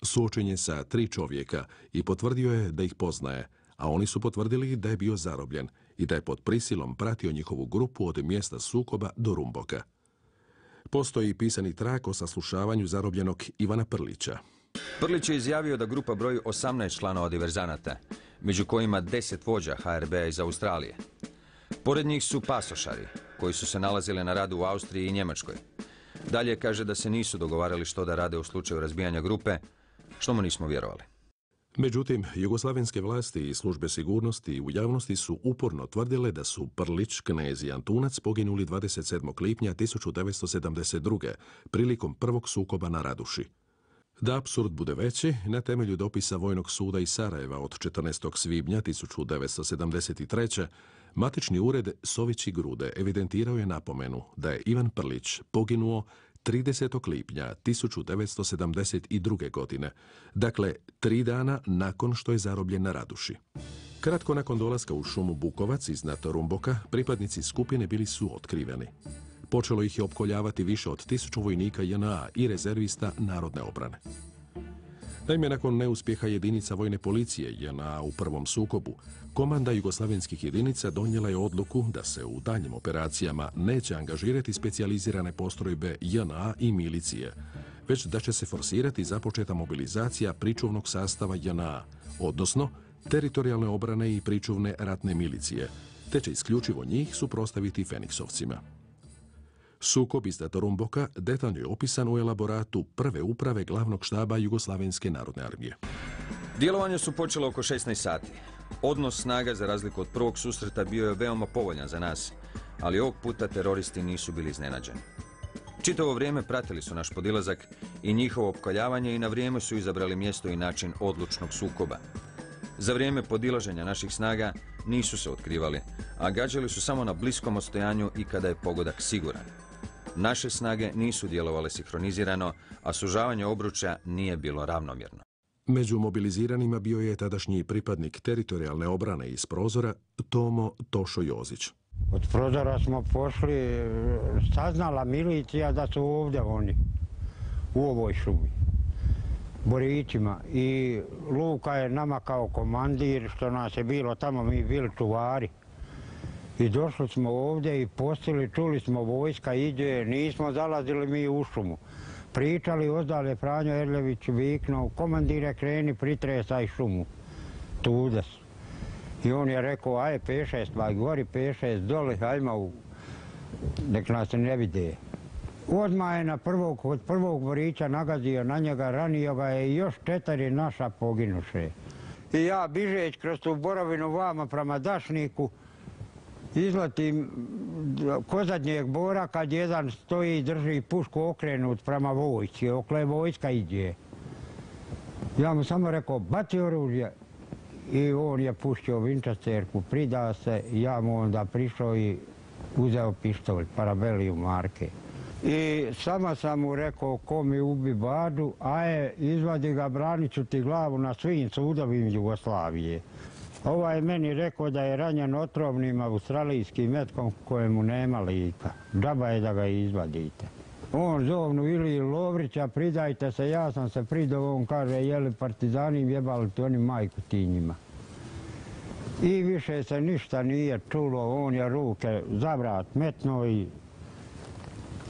Suočen je sa tri čovjeka i potvrdio je da ih poznaje, a oni su potvrdili da je bio zarobljen i da je pod prisilom pratio njihovu grupu od mjesta sukoba do Rumboka. Postoji pisani trag o saslušavanju zarobljenog Ivana Prlića. Prlić je izjavio da grupa broji osamnaest članova diverzanata, među kojima deset vođa ha er be a iz Australije. Pored njih su pasošari, koji su se nalazili na radu u Austriji i Njemačkoj. Dalje kaže da se nisu dogovarali što da rade u slučaju razbijanja grupe, što mu nismo vjerovali. Međutim, jugoslavenske vlasti i službe sigurnosti u javnosti su uporno tvrdile da su Prlić, Knez i Antunac poginuli dvadeset sedmog lipnja tisuću devetsto sedamdeset druge prilikom prvog sukoba na Raduši. Da apsurd bude veći, na temelju dopisa Vojnog suda iz Sarajeva od četrnaestog svibnja tisuću devetsto sedamdeset treće matični ured Sović i Grude evidentirao je napomenu da je Ivan Prlić poginuo tridesetog lipnja tisuću devetsto sedamdeset druge. godine, dakle tri dana nakon što je zarobljen na Raduši. Kratko nakon dolaska u šumu Bukovac iznad Rumboka, pripadnici skupine bili su otkriveni. Počelo ih je opkoljavati više od tisuću vojnika je en a i rezervista narodne obrane. Naime, nakon neuspjeha jedinica vojne policije je en a u prvom sukobu, komanda jugoslavenskih jedinica donijela je odluku da se u daljnjim operacijama neće angažirati specijalizirane postrojbe je en a i milicije, već da će se forsirati započeta mobilizacija pričuvnog sastava je en a, odnosno teritorijalne obrane i pričuvne ratne milicije, te će isključivo njih suprotstaviti Feniksovcima. Sukob iznad Rumboka detaljno je opisan u elaboratu prve uprave glavnog štaba Jugoslavenske narodne armije. Djelovanje su počelo oko šesnaest sati. Odnos snaga, za razliku od prvog susreta, bio je veoma povoljan za nas, ali ovog puta teroristi nisu bili iznenađeni. Čitavo vrijeme pratili su naš podilazak i njihovo opkoljavanje i na vrijeme su izabrali mjesto i način odlučnog sukoba. Za vrijeme podilaženja naših snaga nisu se otkrivali, a gađali su samo na bliskom odstojanju i kada je pogodak siguran. Naše snage nisu djelovale sinhronizirano, a sužavanje obručja nije bilo ravnomjerno. Među mobiliziranima bio je tadašnji pripadnik teritorijalne obrane iz Prozora, Tomo Tošo Jozić. Od Prozora smo pošli, saznala milicija da su ovdje oni, u ovoj šumi, Borićima. I Luka je nama kao komandir, što nas je bilo tamo, mi bili čuvari. I došli smo ovdje i postili, čuli smo vojska iđe, nismo zalazili mi u šumu. Pričali, ozdale Franjo Erljević viknuo, komandire kreni, pritresaj šumu, tude su. I on je rekao, aj pet šest, vaj gori pet šest, dole, hajmo, nek nas ne vide. Odmah je na prvog, od prvog Borića nagazio na njega, ranio ga je i još četiri naša poginuše. I ja bižeć kroz tu borovinu vama prema Dašniku, izletim ko zadnjeg bora kad jedan stoji i drži pušku okrenut prema vojci, okle vojska iđe. Ja mu samo rekao, baci oružje. I on je puštio Winchesterku, prida se, ja mu onda prišao i uzeo pištolj, Parabelliju marke. I samo sam mu rekao, ko mi ubi Badu, aje, izvadi ga, branit ću ti glavu na svim sudovima Jugoslavije. Ovaj je meni rekao da je ranjen otrovnim australijskim metkom kojemu nema lika. Džaba je da ga izvadite. On zovnu Iliju Lovrića, pridajte se, ja sam se pridao, on kaže, jeli partizani jebali ti oni majku ti njima. I više se ništa nije čulo, on je ruke za vrat metno i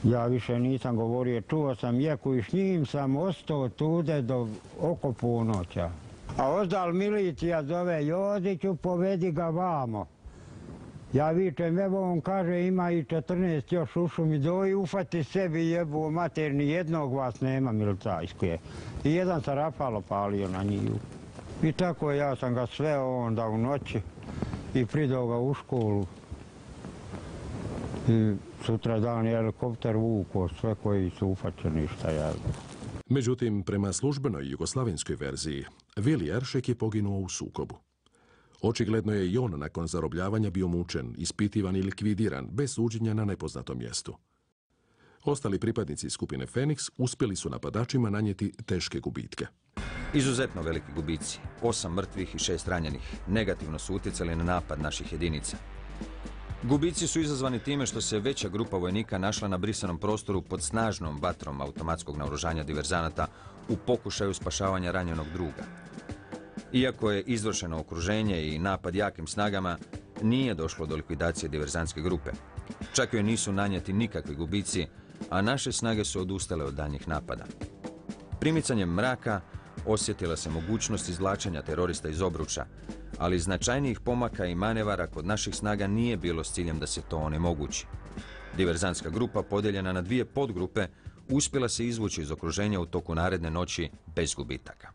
ja više nisam govorio, čuo sam jeku i s njim sam ostao tude do oko ponoća. A ozdal milicija zove Joziću, povedi ga vamo. Ja vičem, evo on kaže, ima i četrnaest još u šumi, doji ufati sebi jebu mater, ni jednog vas nema milicajske. I jedan sa rafalo palio na njiju. I tako ja sam ga sveo onda u noći i pridao ga u školu. I sutra dan je helikopter vuko sve koji su ufaćeni šta ja. Međutim, prema službenoj jugoslavenskoj verziji, Vili Eršek je poginuo u sukobu. Očigledno je i on nakon zarobljavanja bio mučen, ispitivan i likvidiran, bez suđenja na nepoznatom mjestu. Ostali pripadnici skupine Feniks uspjeli su napadačima nanijeti teške gubitke. Izuzetno veliki gubici, osam mrtvih i šest ranjenih, negativno su utjecali na napad naših jedinica. Gubici su izazvani time što se veća grupa vojnika našla na brisanom prostoru pod snažnom vatrom automatskog naoružanja diverzanata u pokušaju spašavanja ranjenog druga. Iako je izvršeno okruženje i napad jakim snagama, nije došlo do likvidacije diverzantske grupe. Čak joj nisu nanijeti nikakvi gubici, a naše snage su odustale od daljnjih napada. Primicanjem mraka osjetila se mogućnost izvlačenja terorista iz obruča, ali značajnijih pomaka i manevara kod naših snaga nije bilo s ciljem da se to onemogući. Diverzantska grupa, podijeljena na dvije podgrupe, uspjela se izvući iz okruženja u toku naredne noći bez gubitaka.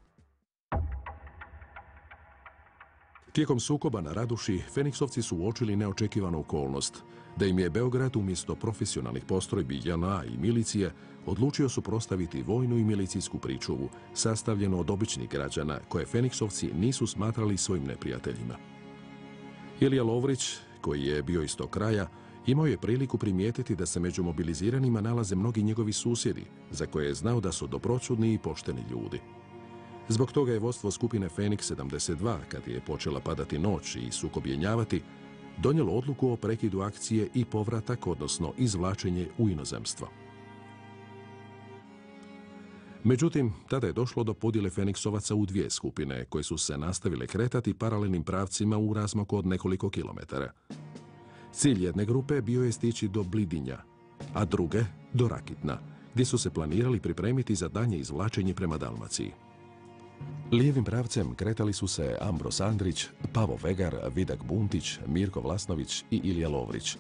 Tijekom sukoba na Raduši, Feniksovci su uočili neočekivanu okolnost, da im je Beograd umjesto profesionalnih postrojbi J N A i milicije odlučio suprotstaviti vojnu i milicijsku pričuvu, sastavljenu od običnih građana, koje Feniksovci nisu smatrali svojim neprijateljima. Ilija Lovrić, koji je bio iz tog kraja, imao je priliku primijetiti da se među mobiliziranima nalaze mnogi njegovi susjedi, za koje je znao da su dobroćudni i pošteni ljudi. Zbog toga je vodstvo skupine Feniks sedamdeset dva, kad je počela padati noć i sukob jenjavati, donijelo odluku o prekidu akcije i povratak, odnosno izvlačenje u inozemstvo. Međutim, tada je došlo do podjele Feniksovaca u dvije skupine, koje su se nastavile kretati paralelnim pravcima u razmaku od nekoliko kilometara. Cilj jedne grupe bio je stići do Blidinja, a druge do Rakitna, gdje su se planirali pripremiti za daljnje izvlačenje prema Dalmaciji. Lijevim pravcem kretali su se Ambros Andrić, Pavo Vegar, Vidak Buntić, Mirko Vlasnović i Ilija Lovrić,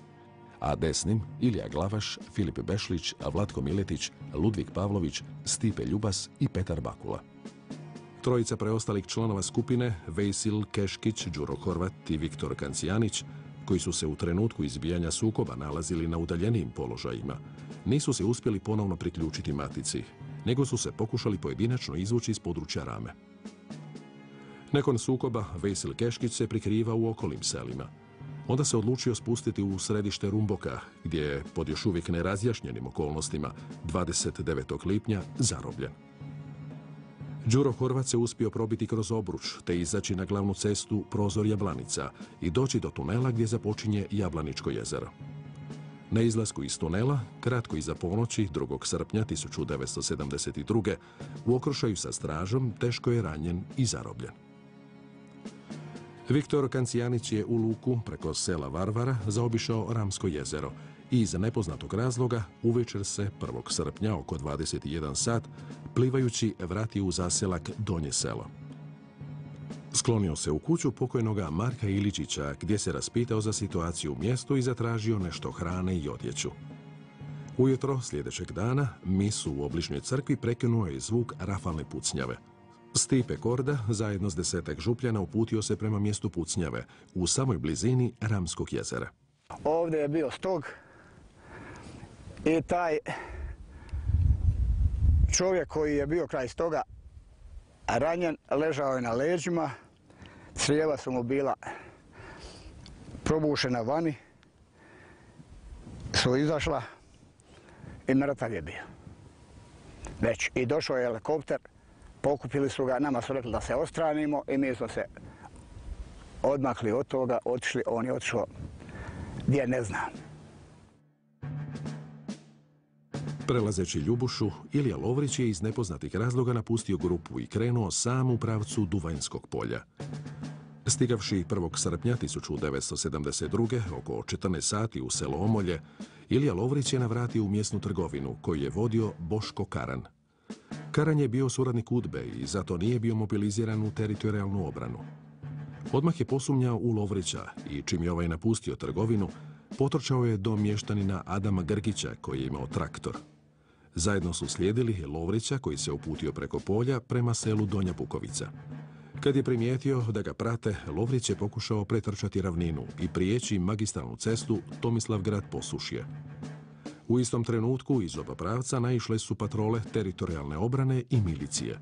a desnim Ilija Glavaš, Filip Bešlić, Vlatko Miletić, Ludvik Pavlović, Stipe Ljubas i Petar Bakula. Trojica preostalih članova skupine, Vejsil Keškić, Đuro Horvat i Viktor Kancijanić, koji su se u trenutku izbijanja sukoba nalazili na udaljenijim položajima, nisu se uspjeli ponovno priključiti matici, nego su se pokušali pojedinačno izvući iz područja Rame. Nakon sukoba, Vejsil Keškić se prikriva u okolnim selima. Onda se odlučio spustiti u središte Rumboka, gdje je pod još uvijek nerazjašnjenim okolnostima dvadeset devetog lipnja zarobljen. Đuro Horvat se uspio probiti kroz obruč, te izaći na glavnu cestu Prozor Jablanica i doći do tunela gdje započinje Jablaničko jezero. Na izlasku iz tunela, kratko iza ponoći, drugog srpnja tisuću devetsto sedamdeset druge. u okršaju sa stražom teško je ranjen i zarobljen. Viktor Kancijanić je u luku preko sela Varvara zaobišao Ramsko jezero i iz nepoznatog razloga uvečer se prvog srpnja oko dvadeset jedan sat plivajući vratio u zaselak Donje selo. Sklonio se u kuću pokojnoga Marka Iličića gdje se raspitao za situaciju u mjestu i zatražio nešto hrane i odjeću. Ujutro sljedećeg dana misu u obližnjoj crkvi prekinuo je zvuk rafalne pucnjave. Stipe Korda zajedno s desetak župljana uputio se prema mjestu pucnjave u samoj blizini Ramskog jezera. Ovdje je bio stog i taj čovjek koji je bio kraj stoga ranjen ležao je na leđima, crijeva su mu bila probušena vani, su izašla i mrtav je bio. Već i došao je helikopter, pokupili su ga, nama su rekli da se odstranimo i mi smo se odmakli od toga, otišli, on je otišao gdje ne znam. Prelazeći Ljubušu, Ilija Lovrić je iz nepoznatih razloga napustio grupu i krenuo sam u pravcu Duvanjskog polja. Stigavši prvog srpnja tisuću devetsto sedamdeset druge. oko četrnaest sati u selo Omolje, Ilija Lovrić je navratio u mjesnu trgovinu koju je vodio Boško Karan. Karan je bio suradnik UDBE i zato nije bio mobiliziran u teritorijalnu obranu. Odmah je posumnjao u Lovrića i čim je ovaj napustio trgovinu, potrčao je do mještanina Adama Grgića koji je imao traktor. Zajedno su slijedili Lovrića koji se uputio preko polja prema selu Donja Bukovica. Kad je primijetio da ga prate, Lovrić je pokušao pretrčati ravninu i prijeći magistralnu cestu Tomislavgrad Posušje. U istom trenutku iz oba pravca naišle su patrole teritorijalne obrane i milicije.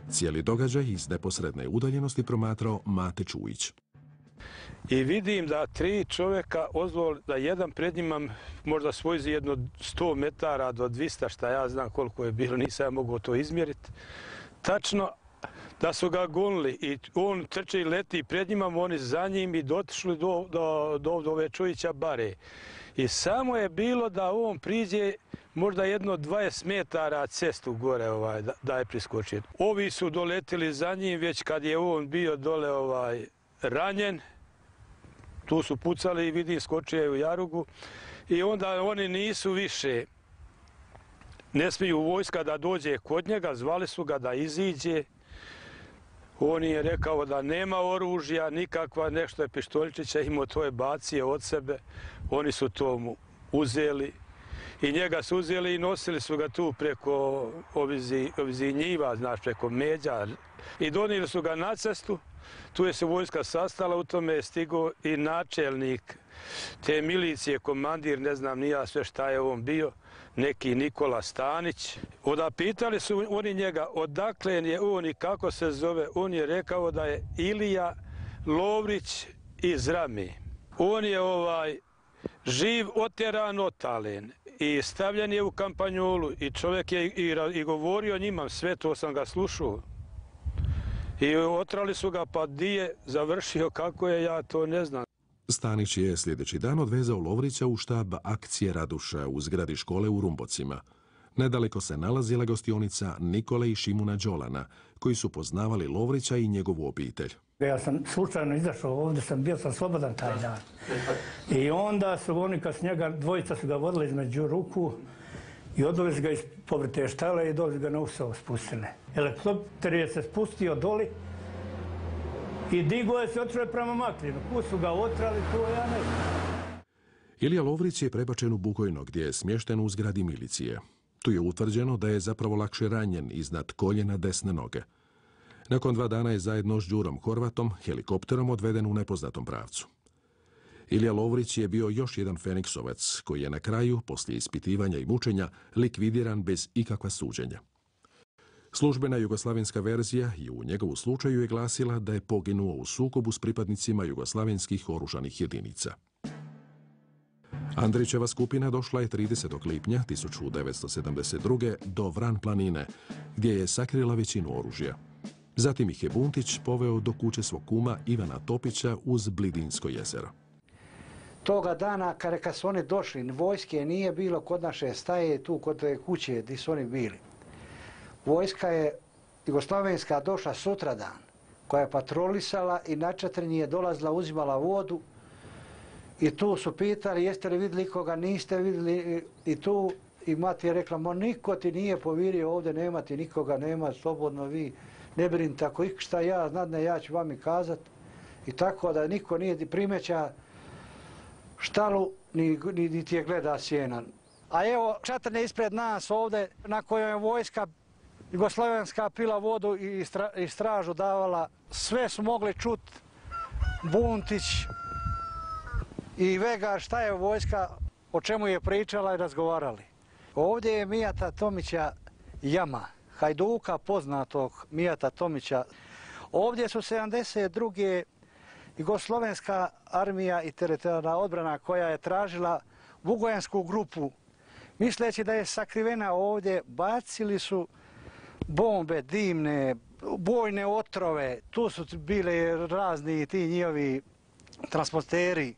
Cijeli događaj iz neposredne udaljenosti promatrao Mate Čujić. I vidim da tri čovjeka ozvol da jedan pred njima možda svoji jedno sto metara do dvista, šta ja znam koliko je bilo, nisam ja mogao to izmjeriti. Tačno da su ga gonili i on trče i leti pred njima, oni za njim i dotišli do, do, do, do ove Čujića bare. I samo je bilo da on priđe možda jedno dvadeset metara cestu gore ovaj, da, da je priskočio. Ovi su doletili za njim već kad je on bio dole ovaj, ranjen. Tu su pucali i vidim skočio je u jarugu. I onda oni nisu više, ne smiju vojska da dođe kod njega, zvali su ga da iziđe. On je rekao da nema oružja, nikakva, nešto je pištoljičića imao, to je bacio od sebe. Oni su to mu uzeli i njega su uzeli i nosili su ga tu preko ovizi njiva, znaš, preko međa. I donijeli su ga na cestu, tu je se vojska sastala, u tome je stigao i načelnik te milicije, komandir, ne znam ni ja sve šta je on bio, neki Nikola Stanić. Onda pitali su oni njega odakle je on i kako se zove. On je rekao da je Ilija Lovrić iz Rami. On je ovaj živ otjeran otalen i stavljen je u kampanjolu i čovjek je i, i govorio njima, sve to sam ga slušao. I otrali su ga pa di je završio, kako je, ja to ne znam. Stanić je sljedeći dan odvezao Lovrića u štab akcije Raduša u zgradi škole u Rumbocima. Nedaleko se nalazila gostionica Nikole i Šimuna Đolana, koji su poznavali Lovrića i njegovu obitelj. Ja sam slučajno izašao ovdje, sam bio sam slobodan taj dan. I onda su oni kad s njega, dvojica su ga vodili između ruku i odveli ga iz povrte štale i doli ga na Usovo spustili. Helikopter je se spustio doli i digo je se, otišao je prema Maklinu. Kud su ga otrali, to ja ne znam. Ilija Lovrić je prebačen u Bukojno gdje je smješten u zgradi milicije. Tu je utvrđeno da je zapravo lakše ranjen iznad koljena desne noge. Nakon dva dana je zajedno s Đurom Horvatom helikopterom odveden u nepoznatom pravcu. Ilija Lovrić je bio još jedan Feniksovac koji je na kraju, poslije ispitivanja i mučenja, likvidiran bez ikakva suđenja. Službena jugoslavenska verzija i u njegovu slučaju je glasila da je poginuo u sukobu s pripadnicima jugoslavenskih oružanih jedinica. Andrićeva skupina došla je tridesetog lipnja tisuću devetsto sedamdeset druge. do Vran planine, gdje je sakrila većinu oružja. Zatim ih je Buntić poveo do kuće svog kuma Ivana Topića uz Blidinsko jezero. Toga dana, kada su oni došli, vojske nije bilo kod naše staje, tu kod te kuće gdje su oni bili. Vojska je jugoslavenska došla sutradan, koja je patrolisala i na četiri je dolazila, uzimala vodu i tu su pitali jeste li vidjeli koga, niste vidjeli i tu i mati je rekla, mo niko ti nije povirio ovdje, nema ti nikoga, nema, slobodno vi, ne brinite, ako šta ja znadne, ja ću vam i kazat. I tako da niko nije primeća štalu, ni, ni, ni ti je gleda sjena. A evo četrne ispred nas ovdje, na kojoj je vojska jugoslavenska pila vodu i, stra, i stražu davala, sve su mogli čut Buntić i Vegar šta je vojska, o čemu je pričala i razgovarali. Ovdje je Mijata Tomića jama, hajduka poznatog Mijata Tomića. Ovdje su sedamdeset druge jugoslovenska armija i teritorijalna odbrana koja je tražila Vugojensku grupu. Misleći da je sakrivena ovdje, bacili su bombe dimne, bojne otrove, tu su bili razni ti njihovi transporteri,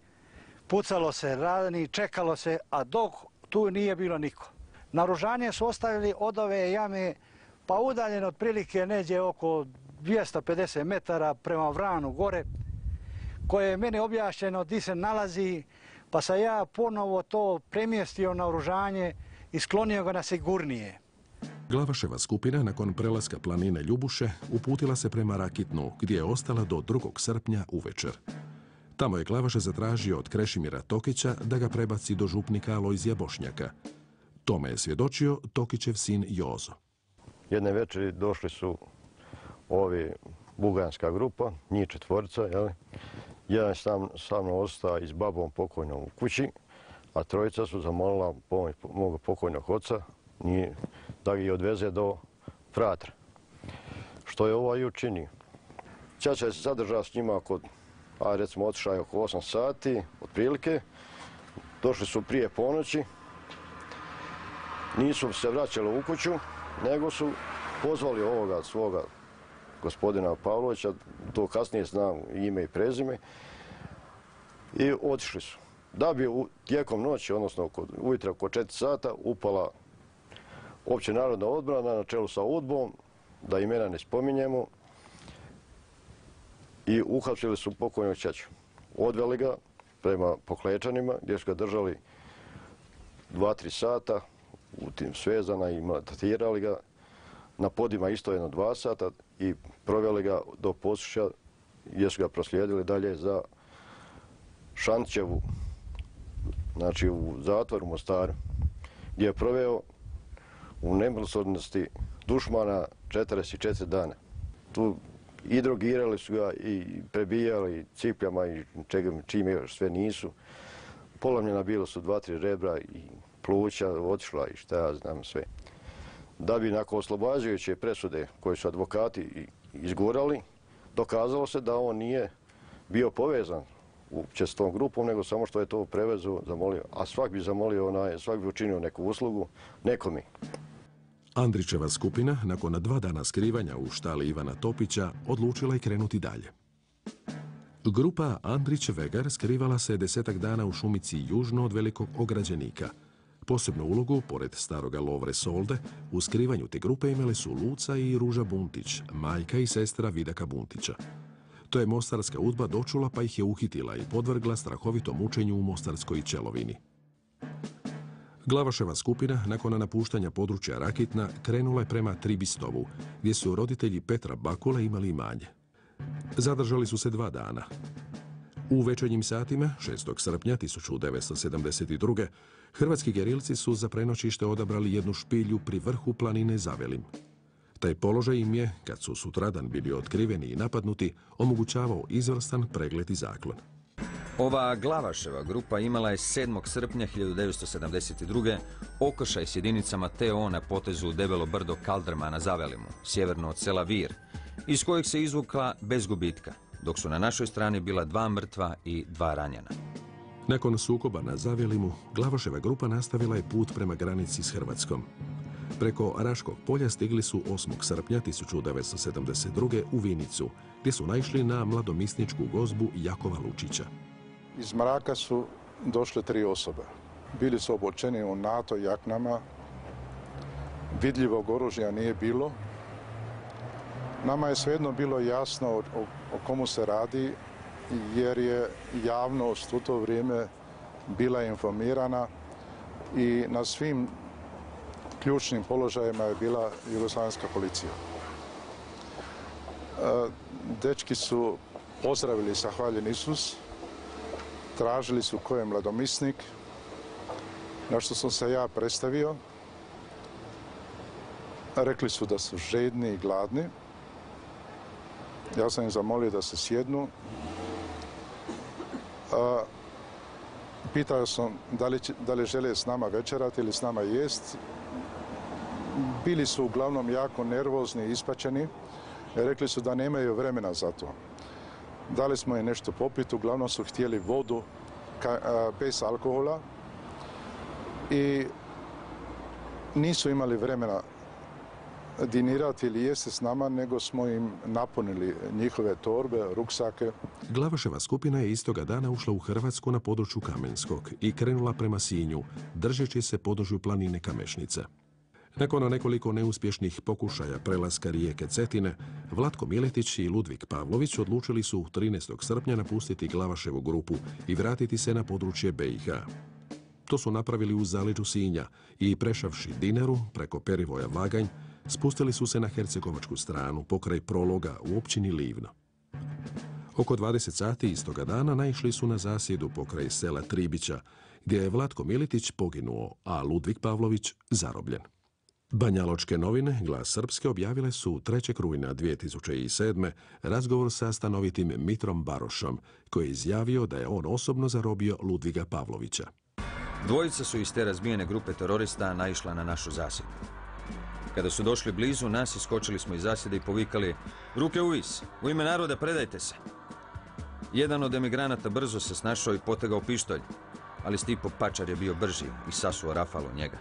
pucalo se, radni, čekalo se, a dok tu nije bilo niko. Naoružanje su ostavili od ove jame, pa udaljeno otprilike neđe oko dvjesto pedeset metara prema Vranu gore, koje je meni objašnjeno gdje se nalazi, pa sam ja ponovo to premjestio naoružanje i sklonio ga na sigurnije. Glavaševa skupina nakon prelaska planine Ljubuše uputila se prema Rakitnu, gdje je ostala do drugog srpnja uvečer. Tamo je Glavaša zatražio od Krešimira Tokića da ga prebaci do župnika Alojzija Bošnjaka. Tome je svjedočio Tokićev sin Jozo. Jedne večeri došli su ovi buganska grupa, njih četvorica, jel? Jedan sam, sa mnom ostao i s babom pokojnom u kući, a trojica su zamolila pomoć mog pokojnog oca da ga odveze do Fratra. Što je ovaj učinio. Ćaća je se zadržao s njima kod, a recimo otišao je oko osam sati, otprilike. Došli su prije ponoći. Nisu se vraćali u kuću, nego su pozvali ovoga svoga gospodina Pavlovića, to kasnije znam ime i prezime, i otišli su. Da bi tijekom noći, odnosno ujutro oko četiri sata, upala opće narodna odbrana na čelu sa udbom, da imena ne spominjemo, i uhapsili su pokojnog ćaću. Odveli ga prema Poklečanima, gdje su ga držali dva, tri sata, u tim svezana i maltretirali ga. Na podima isto jedno dva sata i proveli ga do Posušća, gdje su ga proslijedili dalje za Šantićevu, znači u zatvoru u Mostaru, gdje je proveo u nemilosrdnosti dušmana četrdeset četiri dana. Tu i drogirali su ga i prebijali cipljama i čime još sve nisu. Polomljena bilo su dva, tri rebra i pluća otišla i šta ja znam sve. Da bi nakon oslobađajuće presude koje su advokati izgurali, dokazalo se da on nije bio povezan uopće s tom grupom, nego samo što je to prevezu zamolio. A svak bi zamolio, onaj, svak bi učinio neku uslugu nekome. Andrićeva skupina, nakon dva dana skrivanja u štali Ivana Topića, odlučila je krenuti dalje. Grupa Andrić-Vegar skrivala se desetak dana u šumici južno od Velikog Ograđenika. Posebnu ulogu, pored staroga Lovre Solde, u skrivanju te grupe imale su Luca i Ruža Buntić, majka i sestra Vidaka Buntića. To je mostarska udba dočula pa ih je uhitila i podvrgla strahovitom mučenju u mostarskoj Čelovini. Glavaševa skupina, nakon napuštanja područja Rakitna, krenula je prema Tribistovu, gdje su roditelji Petra Bakule imali imanje. Zadržali su se dva dana. U večernjim satima, šestog srpnja tisuću devetsto sedamdeset druge. hrvatski gerilci su za prenoćište odabrali jednu špilju pri vrhu planine Zavelim. Taj položaj im je, kad su sutradan bili otkriveni i napadnuti, omogućavao izvrstan pregled i zaklon. Ova Glavaševa grupa imala je sedmog srpnja hiljadu devetsto sedamdeset druge okršaj s jedinicama T O na potezu Debelo brdo Kaldrma na Zavelimu, sjeverno od sela Vir, iz kojeg se izvukla bez gubitka, dok su na našoj strani bila dva mrtva i dva ranjena. Nakon sukoba na Zavelimu, Glavaševa grupa nastavila je put prema granici s Hrvatskom. Preko Raškog polja stigli su osmog srpnja tisuću devetsto sedamdeset druge u Vinicu, gdje su naišli na mladomisničku gozbu Jakova Lučića. Iz mraka su došle tri osobe. Bili su obučeni u NATO jaknama, vidljivog oružja nije bilo. Nama je svejedno bilo jasno o, o, o komu se radi, jer je javnost u to vrijeme bila informirana i na svim ključnim položajima je bila jugoslavenska policija. Dečki su pozdravili Zahvaljen Isus, tražili su ko je mladomisnik, na što sam se ja predstavio. Rekli su da su žedni i gladni. Ja sam im zamolio da se sjednu. Pitao sam da li, da li žele s nama večerati ili s nama jest. Bili su uglavnom jako nervozni i ispaćeni. Rekli su da nemaju vremena za to. Dali smo im nešto popiti, uglavnom su htjeli vodu ka, a, bez alkohola i nisu imali vremena dinirati ili jesti s nama, nego smo im napunili njihove torbe, ruksake. Glavaševa skupina je istoga dana ušla u Hrvatsku na području Kamenskog i krenula prema Sinju, držeći se području planine Kamešnica. Nakon nekoliko neuspješnih pokušaja prelaska rijeke Cetine, Vlatko Miletić i Ludvig Pavlović odlučili su trinaestog srpnja napustiti Glavaševu grupu i vratiti se na područje B i H. To su napravili u zaleđu Sinja i prešavši Dinaru preko perivoja Vaganj, spustili su se na hercegovačku stranu pokraj Prologa u općini Livno. Oko dvadeset sati istoga dana naišli su na zasjedu pokraj sela Tribića, gdje je Vlatko Miletić poginuo, a Ludvig Pavlović zarobljen. Banjaločke novine, Glas Srpske, objavile su trećeg rujna dvije tisuće sedme. razgovor sa stanovitim Mitrom Barošom, koji je izjavio da je on osobno zarobio Ludviga Pavlovića. Dvojica su iz te razbijene grupe terorista naišla na našu zasjedu. Kada su došli blizu, nas iskočili smo iz zasjede i povikali: "Ruke uvis, u ime naroda predajte se!" Jedan od emigranata brzo se snašao i potegao pištolj, ali Stipo Pačar je bio brži i sasuo rafal u njega.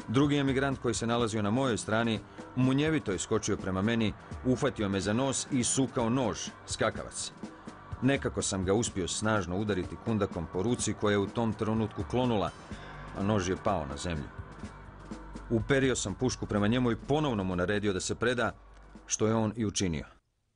Drugi emigrant koji se nalazio na mojoj strani munjevito je skočio prema meni, uhvatio me za nos i sukao nož, skakavac. Nekako sam ga uspio snažno udariti kundakom po ruci koja je u tom trenutku klonula, a nož je pao na zemlju. Uperio sam pušku prema njemu i ponovno mu naredio da se preda, što je on i učinio.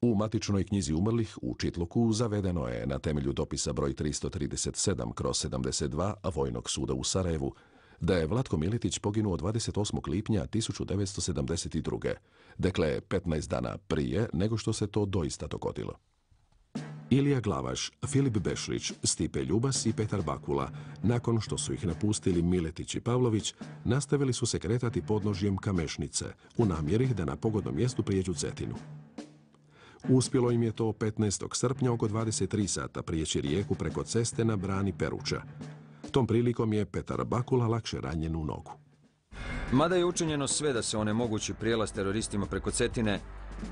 U matičnoj knjizi umrlih u Čitluku zavedeno je na temelju dopisa broj tristo trideset sedam kroz sedamdeset dva Vojnog suda u Sarajevu da je Vlatko Miletić poginuo dvadeset osmog lipnja tisuću devetsto sedamdeset druge. Dakle, petnaest dana prije nego što se to doista dogodilo. Ilija Glavaš, Filip Bešlić, Stipe Ljubas i Petar Bakula, nakon što su ih napustili Miletić i Pavlović, nastavili su se kretati podnožjem Kamešnice u namjeri da na pogodnom mjestu prijeđu Cetinu. Uspjelo im je to petnaestog srpnja oko dvadeset tri sata prijeći rijeku preko ceste na brani Peruča. Tom prilikom je Petar Bakula lakše ranjen u nogu. Mada je učinjeno sve da se onemogući prijelaz teroristima preko Cetine,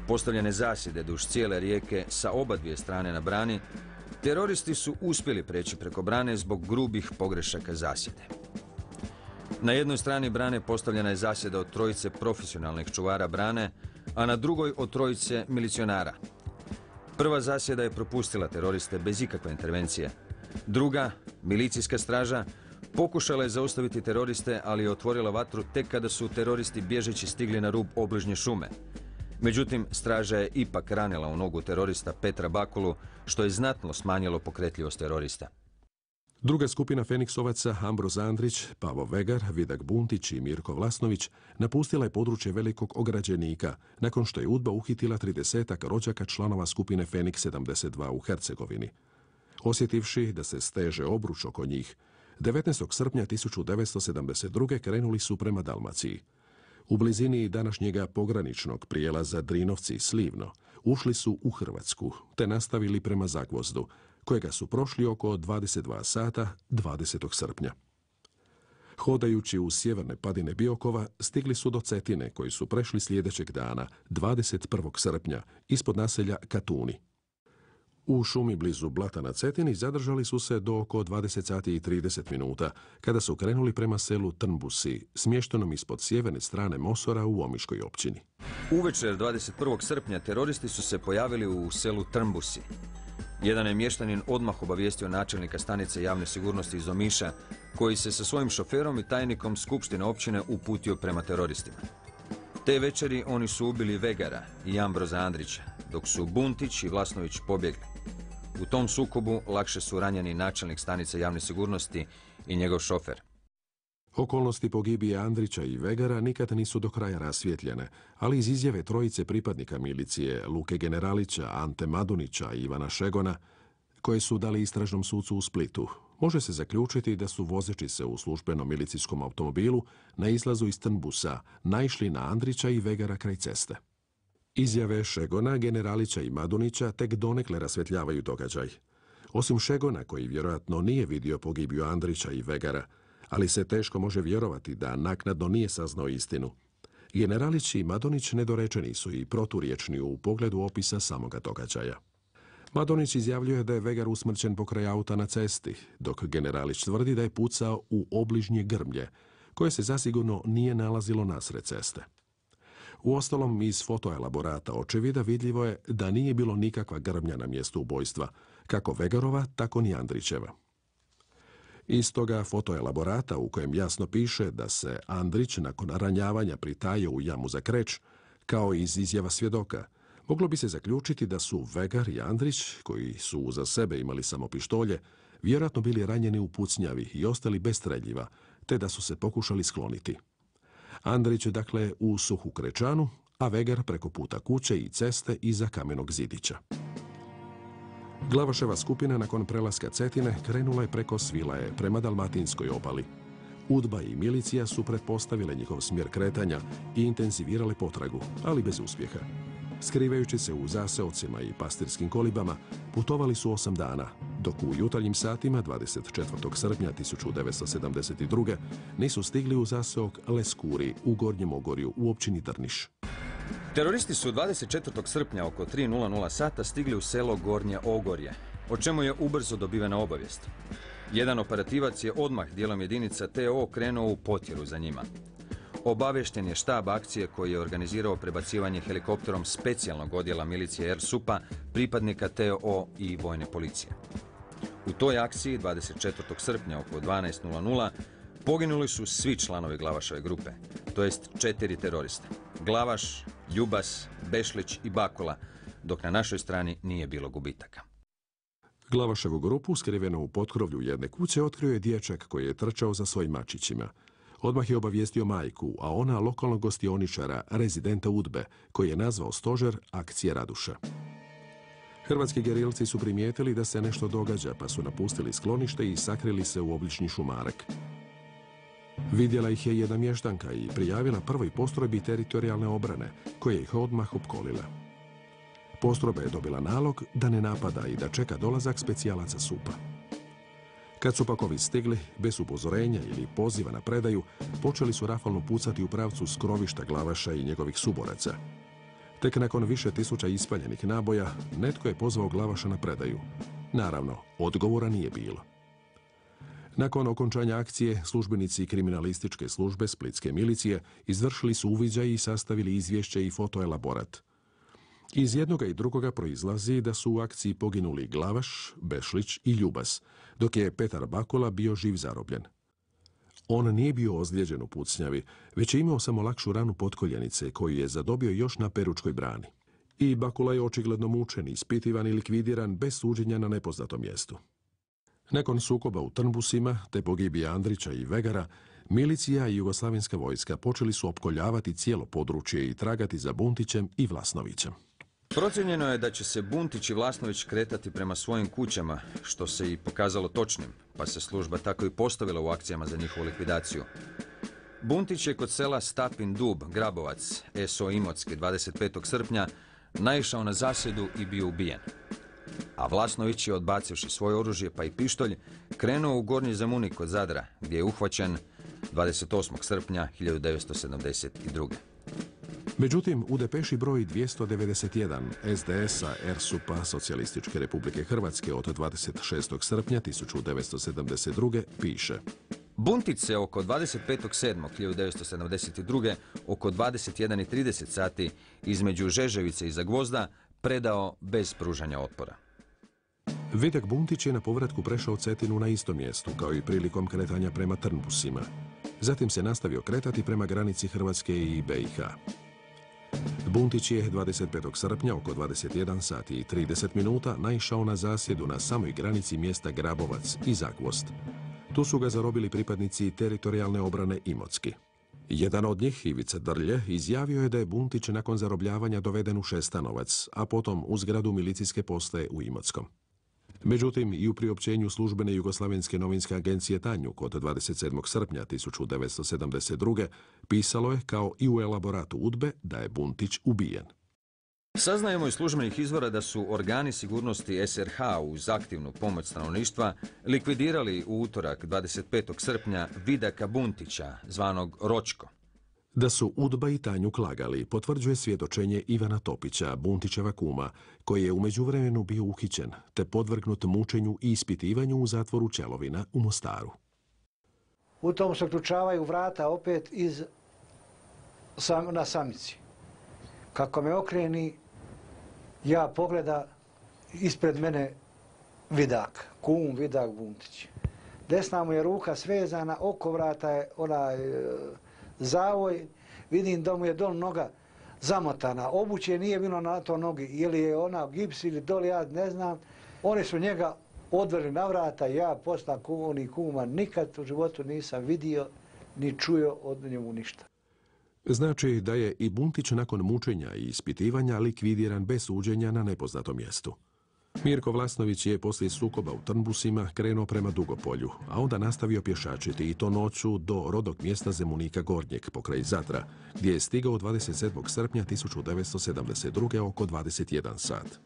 postavljene zasjede duž cijele rijeke sa oba dvije strane na brani, teroristi su uspjeli preći preko brane zbog grubih pogrešaka zasjede. Na jednoj strani brane postavljena je zasjeda od trojice profesionalnih čuvara brane, a na drugoj od trojice milicionara. Prva zasjeda je propustila teroriste bez ikakve intervencije. Druga, milicijska straža, pokušala je zaustaviti teroriste, ali je otvorila vatru tek kada su teroristi bježeći stigli na rub obližnje šume. Međutim, straža je ipak ranila u nogu terorista Petra Bakulu, što je znatno smanjilo pokretljivost terorista. Druga skupina Feniksovaca, Ambroz Andrić, Pavo Vegar, Vidak Buntić i Mirko Vlasnović, napustila je područje Velikog Ograđenika, nakon što je UDBA uhitila tridesetak rođaka članova skupine Feniks sedamdeset dva u Hercegovini. Osjetivši da se steže obruč oko njih, devetnaestog srpnja tisuću devetsto sedamdeset druge. krenuli su prema Dalmaciji. U blizini današnjega pograničnog prijelaza Drinovci-Slivno ušli su u Hrvatsku, te nastavili prema Zagvozdu, kojega su prošli oko dvadeset dva sata dvadesetog srpnja. Hodajući u sjeverne padine Biokova, stigli su do Cetine, koji su prešli sljedećeg dana, dvadeset prvog srpnja, ispod naselja Katuni. U šumi blizu Blata na Cetini zadržali su se do oko dvadeset sati i trideset minuta, kada su krenuli prema selu Trnbusi, smještenom ispod sjeverne strane Mosora u Omiškoj općini. Uvečer dvadeset prvog srpnja teroristi su se pojavili u selu Trnbusi. Jedan je mještanin odmah obavijestio načelnika stanice javne sigurnosti iz Omiša, koji se sa svojim šoferom i tajnikom skupštine općine uputio prema teroristima. Te večeri oni su ubili Vegara i Ambroza Andrića, dok su Buntić i Vlasnović pobjegli. U tom sukobu lakše su ranjeni načelnik stanice javne sigurnosti i njegov šofer. Okolnosti pogibije Andrića i Vegara nikad nisu do kraja rasvjetljene, ali iz izjave trojice pripadnika milicije, Luke Generalića, Ante Madunića i Ivana Šegona, koje su dali istražnom sucu u Splitu, može se zaključiti da su vozeći se u službenom milicijskom automobilu na izlazu iz Trnbusa naišli na Andrića i Vegara kraj ceste. Izjave Šegona, Generalića i Madunića tek donekle rasvjetljavaju događaj. Osim Šegona, koji vjerojatno nije vidio pogibiju Andrića i Vegara, ali se teško može vjerovati da naknadno nije saznao istinu. Generalić i Madonić nedorečeni su i proturječni u pogledu opisa samoga događaja. Madonić izjavljuje da je Vegar usmrćen pokraj auta na cesti, dok Generalić tvrdi da je pucao u obližnje grmlje, koje se zasigurno nije nalazilo nasred ceste. Uostalom, iz fotoelaborata očevida vidljivo je da nije bilo nikakva grmlja na mjestu ubojstva, kako Vegarova, tako ni Andrićeva. Iz toga fotoelaborata, u kojem jasno piše da se Andrić nakon ranjavanja pritajio u jamu za kreć, kao i iz izjava svjedoka, moglo bi se zaključiti da su Vegar i Andrić, koji su uza sebe imali samo pištolje, vjerojatno bili ranjeni u pucnjavi i ostali bez streljiva, te da su se pokušali skloniti. Andrić dakle u suhu krečanu, a Vegar preko puta kuće i ceste iza kamenog zidića. Glavaševa skupina nakon prelaska Cetine krenula je preko Svilaje prema Dalmatinskoj obali. Udba i milicija su pretpostavile njihov smjer kretanja i intenzivirale potragu, ali bez uspjeha. Skrivajući se u zaseocima i pastirskim kolibama, putovali su osam dana, dok u jutarnjim satima dvadeset četvrtog srpnja tisuću devetsto sedamdeset druge nisu stigli u zaseok Leskuri u Gornjem Ogorju u općini Drniš. Teroristi su dvadeset četvrtog srpnja oko tri sata stigli u selo Gornje Ogorje, o čemu je ubrzo dobivena obavijest. Jedan operativac je odmah dijelom jedinica T O krenuo u potjeru za njima. Obavješten je štab akcije koji je organizirao prebacivanje helikopterom specijalnog odjela milicije er supa, pripadnika T O i vojne policije. U toj akciji dvadeset četvrtog srpnja oko dvanaest poginuli su svi članovi Glavašove grupe, to jest četiri teroriste. Glavaš, Ljubas, Bešlić i Bakula, dok na našoj strani nije bilo gubitaka. Glavaševu grupu, skrivenu u potkrovlju jedne kuće, otkrio je dječak koji je trčao za svojim mačićima. Odmah je obavijestio majku, a ona lokalnog gostioničara, rezidenta Udbe, koji je nazvao stožer akcije Raduša. Hrvatski gerilci su primijetili da se nešto događa, pa su napustili sklonište i sakrili se u obližnji šumarak. Vidjela ih je jedna mještanka i prijavila prvoj postrojbi teritorijalne obrane, koja ih odmah opkolila. Postrojba je dobila nalog da ne napada i da čeka dolazak specijalaca supa. Kad su pak ovi stigli, bez upozorenja ili poziva na predaju, počeli su rafalno pucati u pravcu skrovišta Glavaša i njegovih suboraca. Tek nakon više tisuća ispaljenih naboja, netko je pozvao Glavaša na predaju. Naravno, odgovora nije bilo. Nakon okončanja akcije, službenici kriminalističke službe splitske milicije izvršili su uviđaj i sastavili izvješće i fotoelaborat. Iz jednoga i drugoga proizlazi da su u akciji poginuli Glavaš, Bešlić i Ljubas, dok je Petar Bakula bio živ zarobljen. On nije bio ozlijeđen u pucnjavi, već je imao samo lakšu ranu potkoljenice koju je zadobio još na Peručkoj brani. I Bakula je očigledno mučen, ispitivan i likvidiran bez suđenja na nepoznatom mjestu. Nakon sukoba u Trnbusima, te pogibije Andrića i Vegara, milicija i jugoslavenska vojska počeli su opkoljavati cijelo područje i tragati za Buntićem i Vlasnovićem. Procijenjeno je da će se Buntić i Vlasnović kretati prema svojim kućama, što se i pokazalo točnim, pa se služba tako i postavila u akcijama za njihovu likvidaciju. Buntić je kod sela Stapin Dub, Grabovac, S O Imotski, dvadeset petog srpnja, naišao na zasjedu i bio ubijen. A Vlasnović je, odbacivši svoje oružje pa i pištolj, krenuo u Gornji Zemunik kod Zadra, gdje je uhvaćen dvadeset osmog srpnja hiljadu devetsto sedamdeset druge. Međutim, u depeši broj dvjesto devedeset jedan es de es-a er su pa Socijalističke Republike Hrvatske od dvadeset šestog srpnja tisuću devetsto sedamdeset druge piše: Buntić se oko dvadeset petog sedmog hiljadu devetsto sedamdeset druge oko dvadeset jedan i trideset sati između Žeževice i Zagvozda predao bez pružanja otpora. Vidak Buntić je na povratku prešao Cetinu na istom mjestu, kao i prilikom kretanja prema Trnbusima. Zatim se nastavio kretati prema granici Hrvatske i be i ha. Buntić je dvadeset petog srpnja oko dvadeset jedan sati i trideset minuta naišao na zasjedu na samoj granici mjesta Grabovac i Zagvozd. Tu su ga zarobili pripadnici teritorijalne obrane Imotski. Jedan od njih, Ivica Drlje, izjavio je da je Buntić nakon zarobljavanja doveden u Šestanovac, a potom u zgradu milicijske postaje u Imotskom. Međutim, i u priopćenju službene Jugoslavenske novinske agencije Tanjuk od dvadeset sedmog srpnja tisuću devetsto sedamdeset druge pisalo je, kao i u elaboratu udbe, da je Buntić ubijen. Saznajemo iz službenih izvora da su organi sigurnosti es er ha uz aktivnu pomoć stanovništva likvidirali u utorak dvadeset petog srpnja Vidaka Buntića, zvanog Ročko. Da su udba i Tanjuk lagali, potvrđuje svjedočenje Ivana Topića, Buntićeva kuma, koji je u međuvremenu bio uhićen, te podvrgnut mučenju i ispitivanju u zatvoru Čelovina u Mostaru. U tom se ključavaju vrata opet iz, sam, na samici. Kako me okreni, ja pogleda ispred mene Vidak, kum Vidak Buntić. Desna mu je ruka svezana, oko vrata je onaj zavoj, vidim da mu je dol noga zamotana. Obuće nije bilo na to nogi, ili je ona gips ili dol, ja ne znam. Oni su njega odveli na vrata, ja posla oni kuma nikad u životu nisam vidio ni čuo od njemu ništa. Znači da je i Buntić nakon mučenja i ispitivanja likvidiran bez suđenja na nepoznatom mjestu. Mirko Vlasnović je poslije sukoba u Trnbusima krenuo prema Dugopolju, a onda nastavio pješačiti i to noću do rodnog mjesta Zemunika Gornjeg pokraj Zadra, gdje je stigao dvadeset sedmog srpnja tisuću devetsto sedamdeset druge oko dvadeset jedan sat.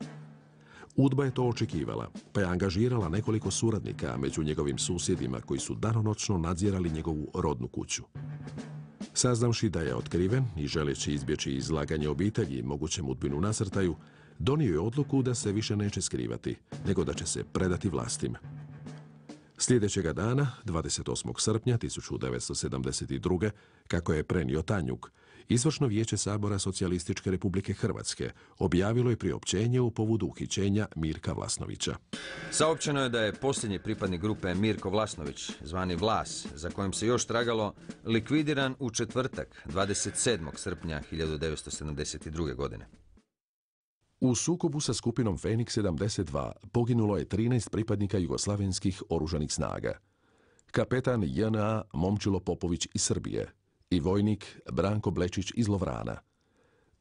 Udba je to očekivala, pa je angažirala nekoliko suradnika među njegovim susjedima koji su danonoćno nadzirali njegovu rodnu kuću. Saznavši da je otkriven i želeći izbjeći izlaganje obitelji mogućem udbinu nasrtaju, donio je odluku da se više neće skrivati, nego da će se predati vlastima. Sljedećega dana, dvadeset osmog srpnja tisuću devetsto sedamdeset druge, kako je prenio Tanjuk, Izvršno vijeće Sabora Socijalističke Republike Hrvatske objavilo je priopćenje u povodu uhićenja Mirka Vlasnovića. Saopćeno je da je posljednji pripadnik grupe Mirko Vlasnović, zvani Vlas, za kojim se još tragalo, likvidiran u četvrtak, dvadeset sedmog srpnja hiljadu devetsto sedamdeset druge. godine. U sukobu sa skupinom Feniks sedamdeset dva poginulo je trinaest pripadnika jugoslavenskih oružanih snaga. Kapetan je en a Momčilo Popović iz Srbije i vojnik Branko Blečić iz Lovrana,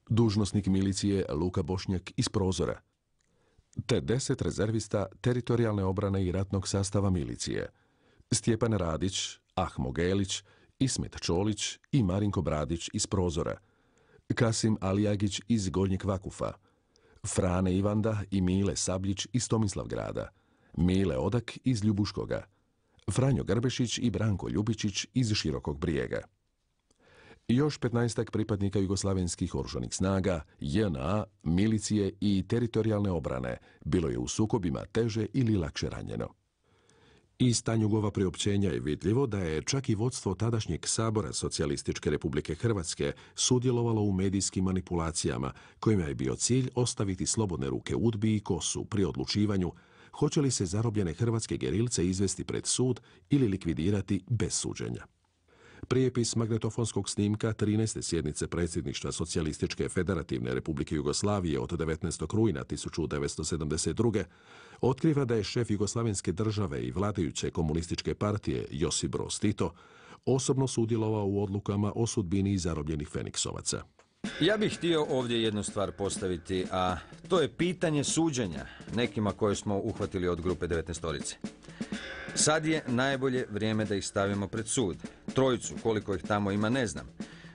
dužnosnik milicije Luka Bošnjak iz Prozora, te deset rezervista teritorijalne obrane i ratnog sastava milicije, Stjepan Radić, Ahmo Gelić, Ismet Čolić i Marinko Bradić iz Prozora, Kasim Alijagić iz Gornjeg Vakufa, Frane Ivanda i Mile Sabljić iz Tomislavgrada, Mile Odak iz Ljubuškoga, Franjo Grbešić i Branko Ljubičić iz Širokog Brijega. Još petnaestak pripadnika jugoslavenskih oružanih snaga, je en a, milicije i teritorijalne obrane bilo je u sukobima teže ili lakše ranjeno. Iz Tanjugova priopćenja je vidljivo da je čak i vodstvo tadašnjeg Sabora Socijalističke Republike Hrvatske sudjelovalo u medijskim manipulacijama, kojima je bio cilj ostaviti slobodne ruke udbi i kosu pri odlučivanju hoće li se zarobljene hrvatske gerilce izvesti pred sud ili likvidirati bez suđenja. Prijepis magnetofonskog snimka trinaeste sjednice predsjedništva Socijalističke Federativne Republike Jugoslavije od devetnaestog rujna tisuću devetsto sedamdeset druge otkriva da je šef Jugoslavenske države i vladajuće komunističke partije Josip Broz Tito osobno sudjelovao u odlukama o sudbini zarobljenih Feniksovaca. Ja bih htio ovdje jednu stvar postaviti, a to je pitanje suđenja nekima koje smo uhvatili od grupe devetnaestorice. Sad je najbolje vrijeme da ih stavimo pred sud. Trojicu, koliko ih tamo ima, ne znam.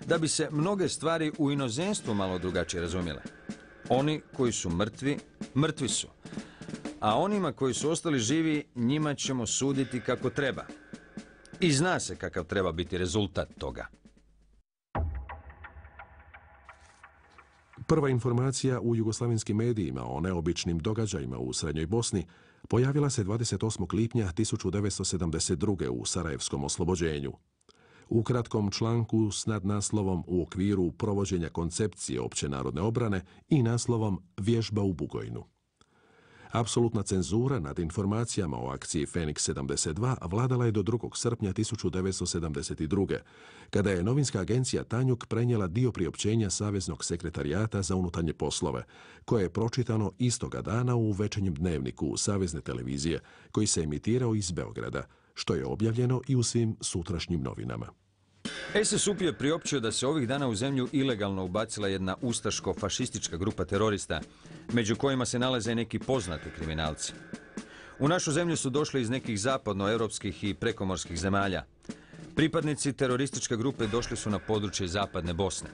Da bi se mnoge stvari u inozemstvu malo drugačije razumjele. Oni koji su mrtvi, mrtvi su. a onima koji su ostali živi, njima ćemo suditi kako treba. I zna se kakav treba biti rezultat toga. Prva informacija u jugoslavenskim medijima o neobičnim događajima u Srednjoj Bosni pojavila se dvadeset osmog lipnja tisuću devetsto sedamdeset druge. u Sarajevskom oslobođenju. U kratkom članku s nadnaslovom U okviru provođenja koncepcije općenarodne obrane i naslovom Vježba u Bugojnu. Apsolutna cenzura nad informacijama o akciji Feniks sedamdeset dva vladala je do drugog srpnja tisuću devetsto sedamdeset druge. kada je novinska agencija Tanjug prenijela dio priopćenja Saveznog sekretarijata za unutarnje poslove, koje je pročitano istoga dana u večernjem dnevniku Savezne televizije, koji se emitirao iz Beograda, što je objavljeno i u svim sutrašnjim novinama. es es u pe je priopćio da se ovih dana u zemlju ilegalno ubacila jedna ustaško-fašistička grupa terorista, među kojima se nalaze neki poznati kriminalci. U našu zemlju su došli iz nekih zapadnoevropskih i prekomorskih zemalja. Pripadnici terorističke grupe došli su na područje zapadne Bosne.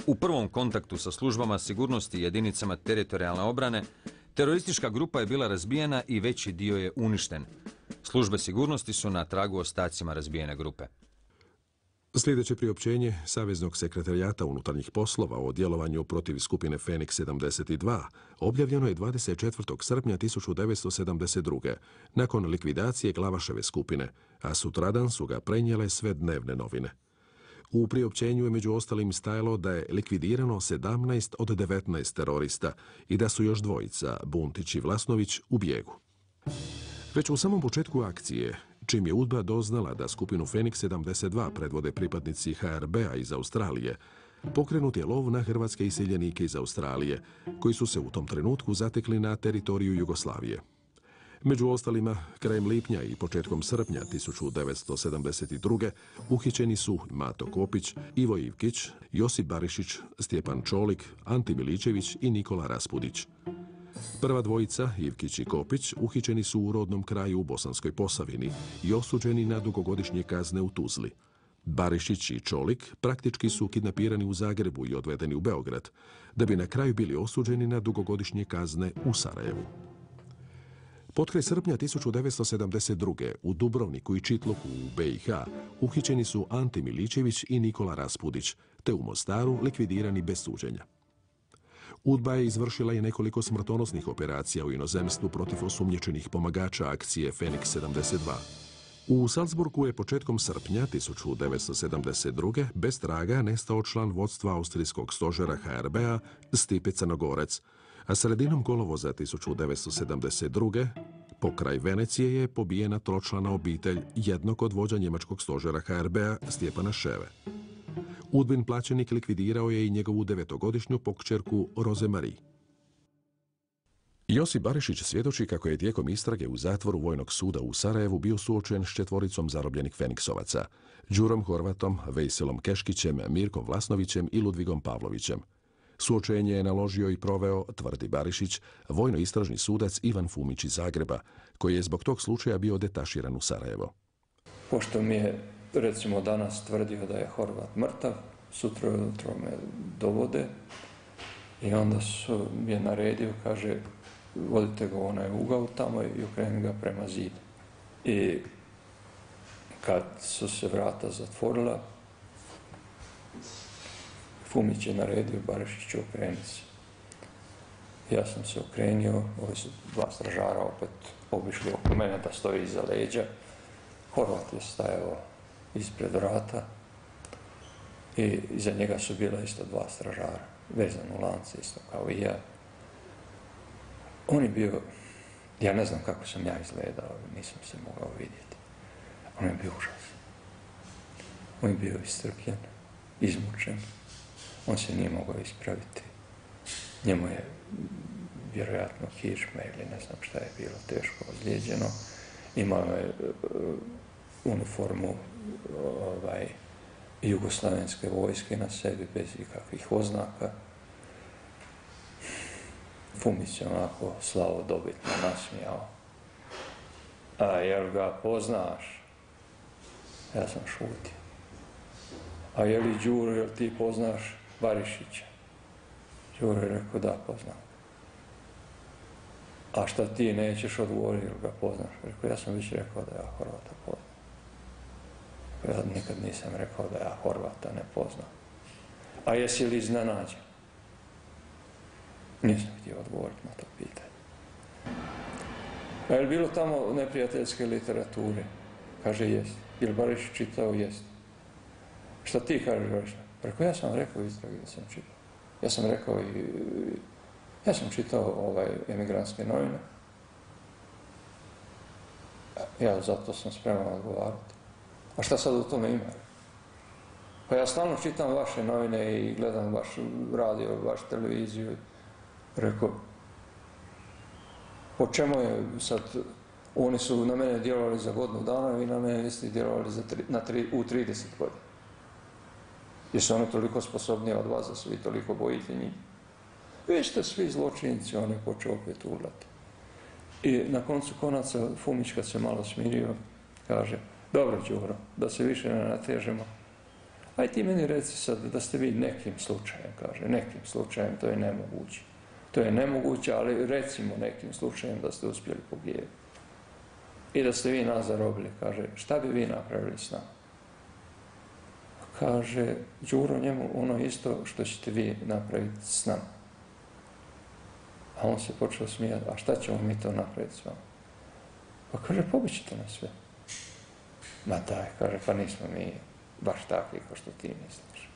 U prvom kontaktu sa službama sigurnosti i jedinicama teritorijalne obrane, teroristička grupa je bila razbijena i veći dio je uništen. Službe sigurnosti su na tragu ostacima razbijene grupe. Sljedeće priopćenje Saveznog sekretarijata unutarnjih poslova o djelovanju protiv skupine Feniks sedamdeset dva objavljeno je dvadeset četvrtog srpnja tisuću devetsto sedamdeset druge. nakon likvidacije Glavaševe skupine, a sutradan su ga prenijele sve dnevne novine. U priopćenju je među ostalim stajalo da je likvidirano sedamnaest od devetnaest terorista i da su još dvojica, Buntić i Vlasnović, u bijegu. Već u samom početku akcije, čim je UDBA doznala da skupinu Feniks sedamdeset dva predvode pripadnici ha er be a iz Australije, pokrenut je lov na hrvatske iseljenike iz Australije, koji su se u tom trenutku zatekli na teritoriju Jugoslavije. Među ostalima, krajem lipnja i početkom srpnja tisuću devetsto sedamdeset druge. uhićeni su Mato Kopić, Ivo Ivkić, Josip Barišić, Stjepan Čolik, Ante Miličević i Nikola Raspudić. Prva dvojica, Ivkić i Kopić, uhićeni su u rodnom kraju u Bosanskoj Posavini i osuđeni na dugogodišnje kazne u Tuzli. Barišić i Čolik praktički su kidnapirani u Zagrebu i odvedeni u Beograd, da bi na kraju bili osuđeni na dugogodišnje kazne u Sarajevu. Potkraj srpnja tisuću devetsto sedamdeset druge. u Dubrovniku i Čitluku u be i ha uhićeni su Ante Miličević i Nikola Raspudić, te u Mostaru likvidirani bez suđenja. UDBA je izvršila i nekoliko smrtonosnih operacija u inozemstvu protiv osumnjičenih pomagača akcije Feniks sedamdeset dva. U Salzburgu je početkom srpnja tisuću devetsto sedamdeset druge. bez traga nestao član vodstva austrijskog stožera ha er be a Stipe Crnogorac, a sredinom kolovoza tisuću devetsto sedamdeset druge. pokraj Venecije je pobijena tročlana obitelj jednog od vođa njemačkog stožera ha er be a Stjepana Ševe. UDBin plaćenik likvidirao je i njegovu devetogodišnju pokćerku Roze Marie. Josip Barišić svjedoči kako je tijekom istrage u zatvoru Vojnog suda u Sarajevu bio suočen s četvoricom zarobljenih Feniksovaca, Đurom Horvatom, Vejselom Keškićem, Mirkom Vlasnovićem i Ludvigom Pavlovićem. Suočenje je naložio i proveo, tvrdi Barišić, vojno-istražni sudac Ivan Fumić iz Zagreba, koji je zbog tog slučaja bio detaširan u Sarajevo. Pošto mi je, recimo, danas tvrdio da je Horvat mrtav, sutra ujutro me dovode i onda su mi je naredio, kaže, vodite ga u onaj ugao tamo i okreni ga prema zidu. I kad su se vrata zatvorila, Fumić je naredio Barišiću, okreni se. Ja sam se okrenio, ovi su dva stražara opet obišli oko mene da stoji iza leđa. Horvat je stajao ispred vrata i iza njega su bila isto dva stražara, vezan u lance isto kao i ja. On je bio, ja ne znam kako sam ja izgledao, nisam se mogao vidjeti. On je bio užasan. On je bio istrpljen, izmučen. On se nije mogao ispraviti. Njemu je vjerojatno kičma ili ne znam šta je bilo teško ozlijeđeno. Imao je uh, uniformu ovaj, jugoslavenske vojske na sebi bez ikakvih oznaka. Fumić se onako slavodobitno nasmijao. A jel ga poznaš? Ja sam šutio. A je li Đuro, jel ti poznaš Barišića? Đuro je rekao da, poznam. A šta ti nećeš odgovoriti ili ga poznaš? Rekao, ja sam već rekao da ja Horvata poznam. Ja nikad nisam rekao da ja Horvata ne poznam. A jesi li iznenađen? Nisam htio odgovoriti na to pitanje. A je li bilo tamo neprijateljske literature? Kaže, jest. Je li Barišić čitao? Jest. Šta ti kažeš, Barišić? Rekao, ja sam rekao istrage da sam čitao. Ja sam rekao i... Ja sam čitao ovaj emigrantske novine. Ja zato sam spreman odgovarati. A šta sad u tome ima? Pa ja stalno čitam vaše novine i gledam vaš radio, vašu televiziju. Rekao, po čemu je sad, oni su na mene djelovali za godinu dana, vi na mene niste djelovali za tri, na tri, u trideset godina. Jesu oni toliko sposobniji od vas da se vi toliko bojite njih? Vi ste svi zločinci, on je počeo opet urlati. I na koncu konaca Fumić kad se malo smirio, kaže, dobro Đuro, da se više ne natežemo. Aj ti meni reci sad da ste vi nekim slučajem, kaže, nekim slučajem, to je nemoguće. To je nemoguće, ali recimo nekim slučajem da ste uspjeli pogijediti. I da ste vi nas zarobili, kaže, šta bi vi napravili s nama? Kaže, Đuro njemu ono isto što ćete vi napraviti s nama. A on se počeo smijati, a šta ćemo mi to napraviti s vama? Pa kaže, pobićete nas sve. Ma daj, kaže, pa nismo mi baš takvi kao što ti misliš.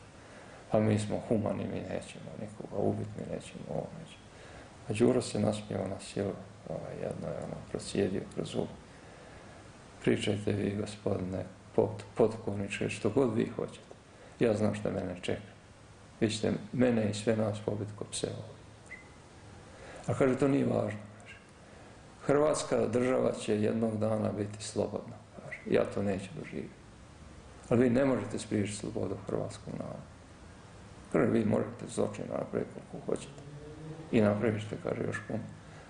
Pa mi smo humani, mi nećemo nikoga ubiti, mi nećemo ovo, nećemo. A Đuro se nasmijao na silu, ovaj, jedno je ono prosjedio kroz zub. Pričajte vi, gospodine potkovniče, što god vi hoćete. Ja znam što mene čeka. Vi ćete mene i sve nas pobiti ko pse ovdje. A kaže, to nije važno. Kaže. Hrvatska država će jednog dana biti slobodna. Kaže. Ja to neću doživjeti. Ali vi ne možete spriječiti slobodu hrvatskog naroda. Kaže, vi možete zločin napraviti koliko hoćete. I napravit ćete, kaže, još puno.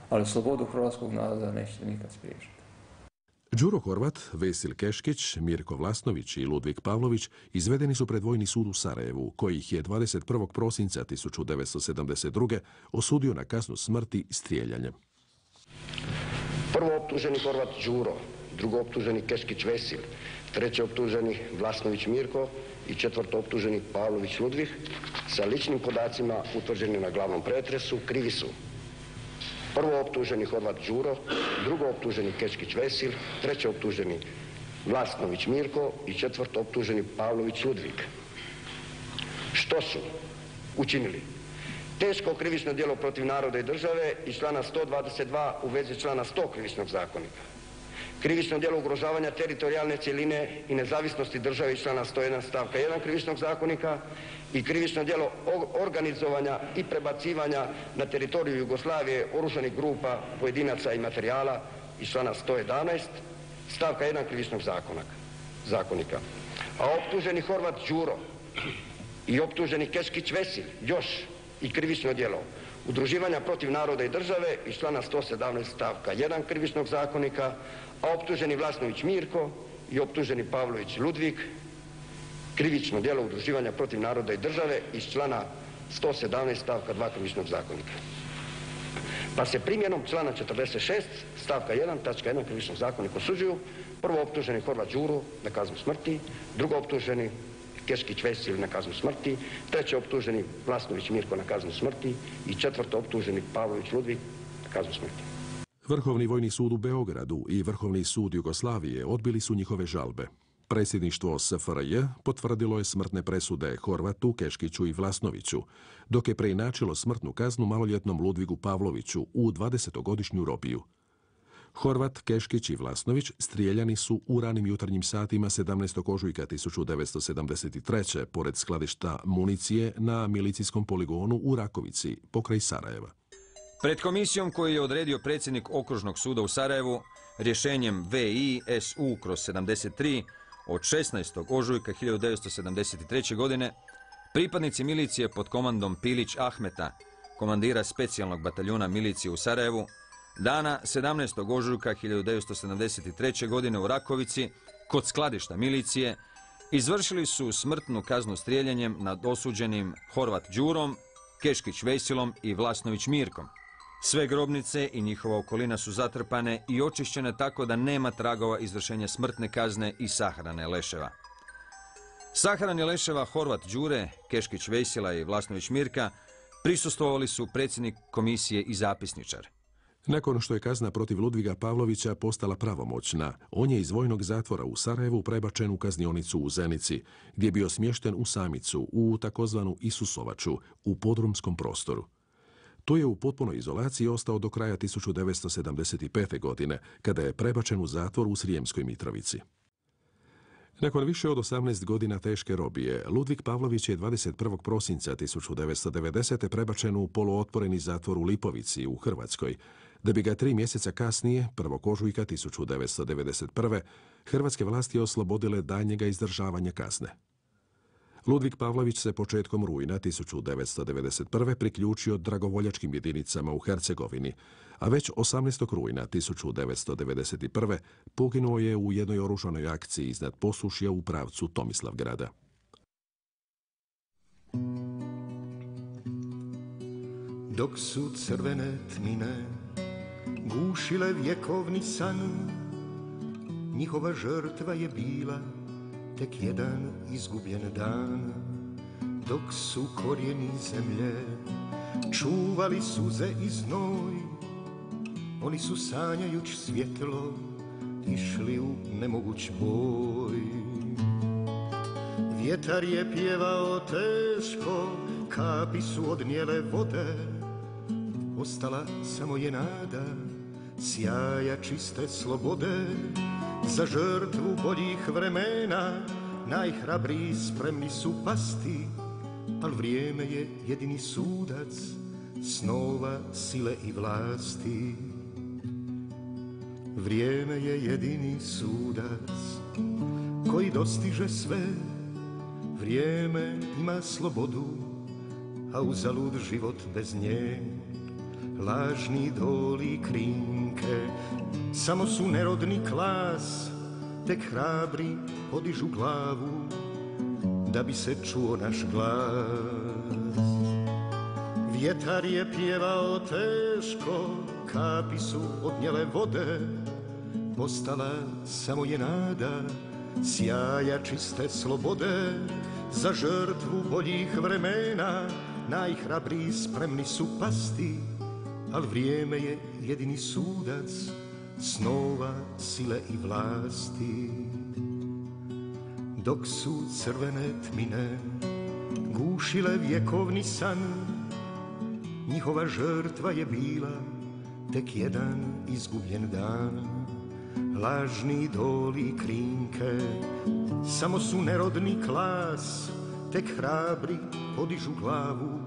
Ali slobodu hrvatskog naroda nećete nikad spriječiti. Đuro Horvat, Vesil Keškić, Mirko Vlasnović i Ludvik Pavlović izvedeni su pred Vojni sud u Sarajevu, koji ih je dvadeset prvog prosinca tisuću devetsto sedamdeset druge. osudio na kaznu smrti strijeljanjem. Prvo optuženi Horvat Đuro, drugo optuženi Keškić Vesil, treći optuženi Vlasnović Mirko i četvrto optuženi Pavlović Ludvik sa ličnim podacima utvrđeni na glavnom pretresu krivi su. Prvo optuženi Horvat Đuro, drugo optuženi Keškić Vesil, treći optuženi Vlasnović Mirko i četvrto optuženi Pavlović Ludvik. Što su učinili? Teško krivično djelo protiv naroda i države iz člana sto dvadeset dva u vezi člana sto krivičnog zakonika. Krivično djelo ugrožavanja teritorijalne cjeline i nezavisnosti države iz člana sto jedan stavka jedan krivičnog zakonika i krivično djelo organizovanja i prebacivanja na teritoriju Jugoslavije oružanih grupa, pojedinaca i materijala iz člana sto jedanaest stavka jedan krivičnog zakonika. A optuženi Horvat Đuro i optuženi Keškić Vesil još i krivično djelo udruživanja protiv naroda i države iz člana sto sedamnaest stavka jedan krivičnog zakonika, a optuženi Vlasnović Mirko i optuženi Pavlović Ludvik krivično djelo udruživanja protiv naroda i države iz člana sto sedamnaest stavka dva krivičnog zakonika. Pa se primjenom člana četrdeset šest stavka jedan tačka jedan krivičnog zakonika osuđuju prvo optuženi Horvat Đuro na kaznu smrti, drugo optuženi Keškić Vesil na kaznu smrti, treći optuženi Vlasnović Mirko na kaznu smrti i četvrto optuženi Pavlović Ludvik na kaznu smrti. Vrhovni vojni sud u Beogradu i Vrhovni sud Jugoslavije odbili su njihove žalbe. Predsjedništvo S F R J potvrdilo je smrtne presude Horvatu, Keškiću i Vlasnoviću, dok je preinačilo smrtnu kaznu maloljetnom Ludvigu Pavloviću u dvadesetogodišnju robiju. Horvat, Keškić i Vlasnović strijeljani su u ranim jutarnjim satima sedamnaestog ožujka tisuću devetsto sedamdeset treće pored skladišta municije na milicijskom poligonu u Rakovici, pokraj Sarajeva. Pred komisijom koju je odredio predsjednik Okružnog suda u Sarajevu rješenjem V I S U kroz sedamdeset tri od šesnaestog ožujka hiljadu devetsto sedamdeset treće. godine pripadnici milicije pod komandom Pilić Ahmeta, komandira specijalnog bataljuna milicije u Sarajevu, dana sedamnaestog ožujka hiljadu devetsto sedamdeset treće. godine u Rakovici, kod skladišta milicije, izvršili su smrtnu kaznu strijeljanjem nad osuđenim Horvat Đurom, Keškić Vesilom i Vlasnović Mirkom, Sve grobnice i njihova okolina su zatrpane i očišćene tako da nema tragova izvršenja smrtne kazne i sahrane leševa. Sahrani leševa Horvat Đure, Keškić Vesila i Vlasnović Mirka prisustvovali su predsjednik komisije i zapisničar. Nakon što je kazna protiv Ludviga Pavlovića postala pravomoćna, on je iz vojnog zatvora u Sarajevu prebačen u kaznionicu u Zenici, gdje je bio smješten u samicu, u takozvanu Isusovaču, u podrumskom prostoru. Tu je u potpunoj izolaciji ostao do kraja tisuću devetsto sedamdeset pete. godine, kada je prebačen u zatvor u Srijemskoj Mitrovici. Nakon više od osamnaest godina teške robije, Ludvig Pavlović je dvadeset prvog prosinca tisuću devetsto devedesete. prebačen u poluotvoreni zatvor u Lipovici u Hrvatskoj, da bi ga tri mjeseca kasnije, prvog ožujka tisuću devetsto devedeset prve. hrvatske vlasti oslobodile daljnjega izdržavanja kazne. Ludvig Pavlović se početkom rujna tisuću devetsto devedeset prve. priključio dragovoljačkim jedinicama u Hercegovini, a već osamnaestog rujna tisuću devetsto devedeset prve. poginuo je u jednoj oružanoj akciji iznad Posušja u pravcu Tomislavgrada. Dok su crvene tmine gušile vjekovni san, njihova žrtva je bila tek jedan izgubljen dan. Dok su korijeni zemlje čuvali suze i znoj, oni su sanjajuć svjetlo išli u nemoguć boj. Vjetar je pjevao teško, kapi su odnijele vode, ostala samo je nada sjaja čiste slobode. Za žrtvu boljih vremena najhrabriji spremni su pasti, al vrijeme je jedini sudac snova, sile i vlasti. Vrijeme je jedini sudac koji dostiže sve. Vrijeme ima slobodu, a uzalud život bez nje. Lažni idoli krinke samo su nerodni klas, tek hrabri podižu glavu da bi se čuo naš glas. Vjetar je pjevao teško, kapi su odnijele vode, ostala samo je nada sjaja čiste slobode. Za žrtvu boljih vremena najhrabriji spremni su pasti, al vrijeme je jedini sudac snova, sile i vlasti. Dok su crvene tmine gušile vjekovni san, njihova žrtva je bila tek jedan izgubljen dan. Lažni idoli krinke samo su nerodni klas, tek hrabri podižu glavu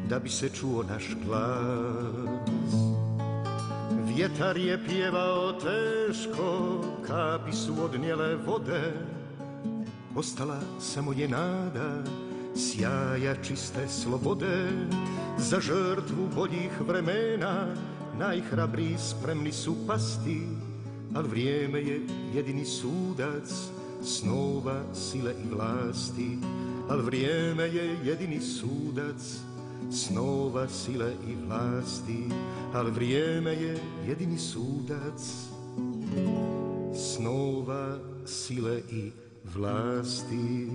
da bi se čuo naš glas. Vjetar je pjevao teško, kapi su odnijele vode, ostala samo je nada sjaja čiste slobode. Za žrtvu boljih vremena najhrabriji spremni su pasti, al vrijeme je jedini sudac snova, sile i vlasti. Al vrijeme je jedini sudac snova, sile i vlasti. Al vrijeme je jedini sudac snova, sile i vlasti.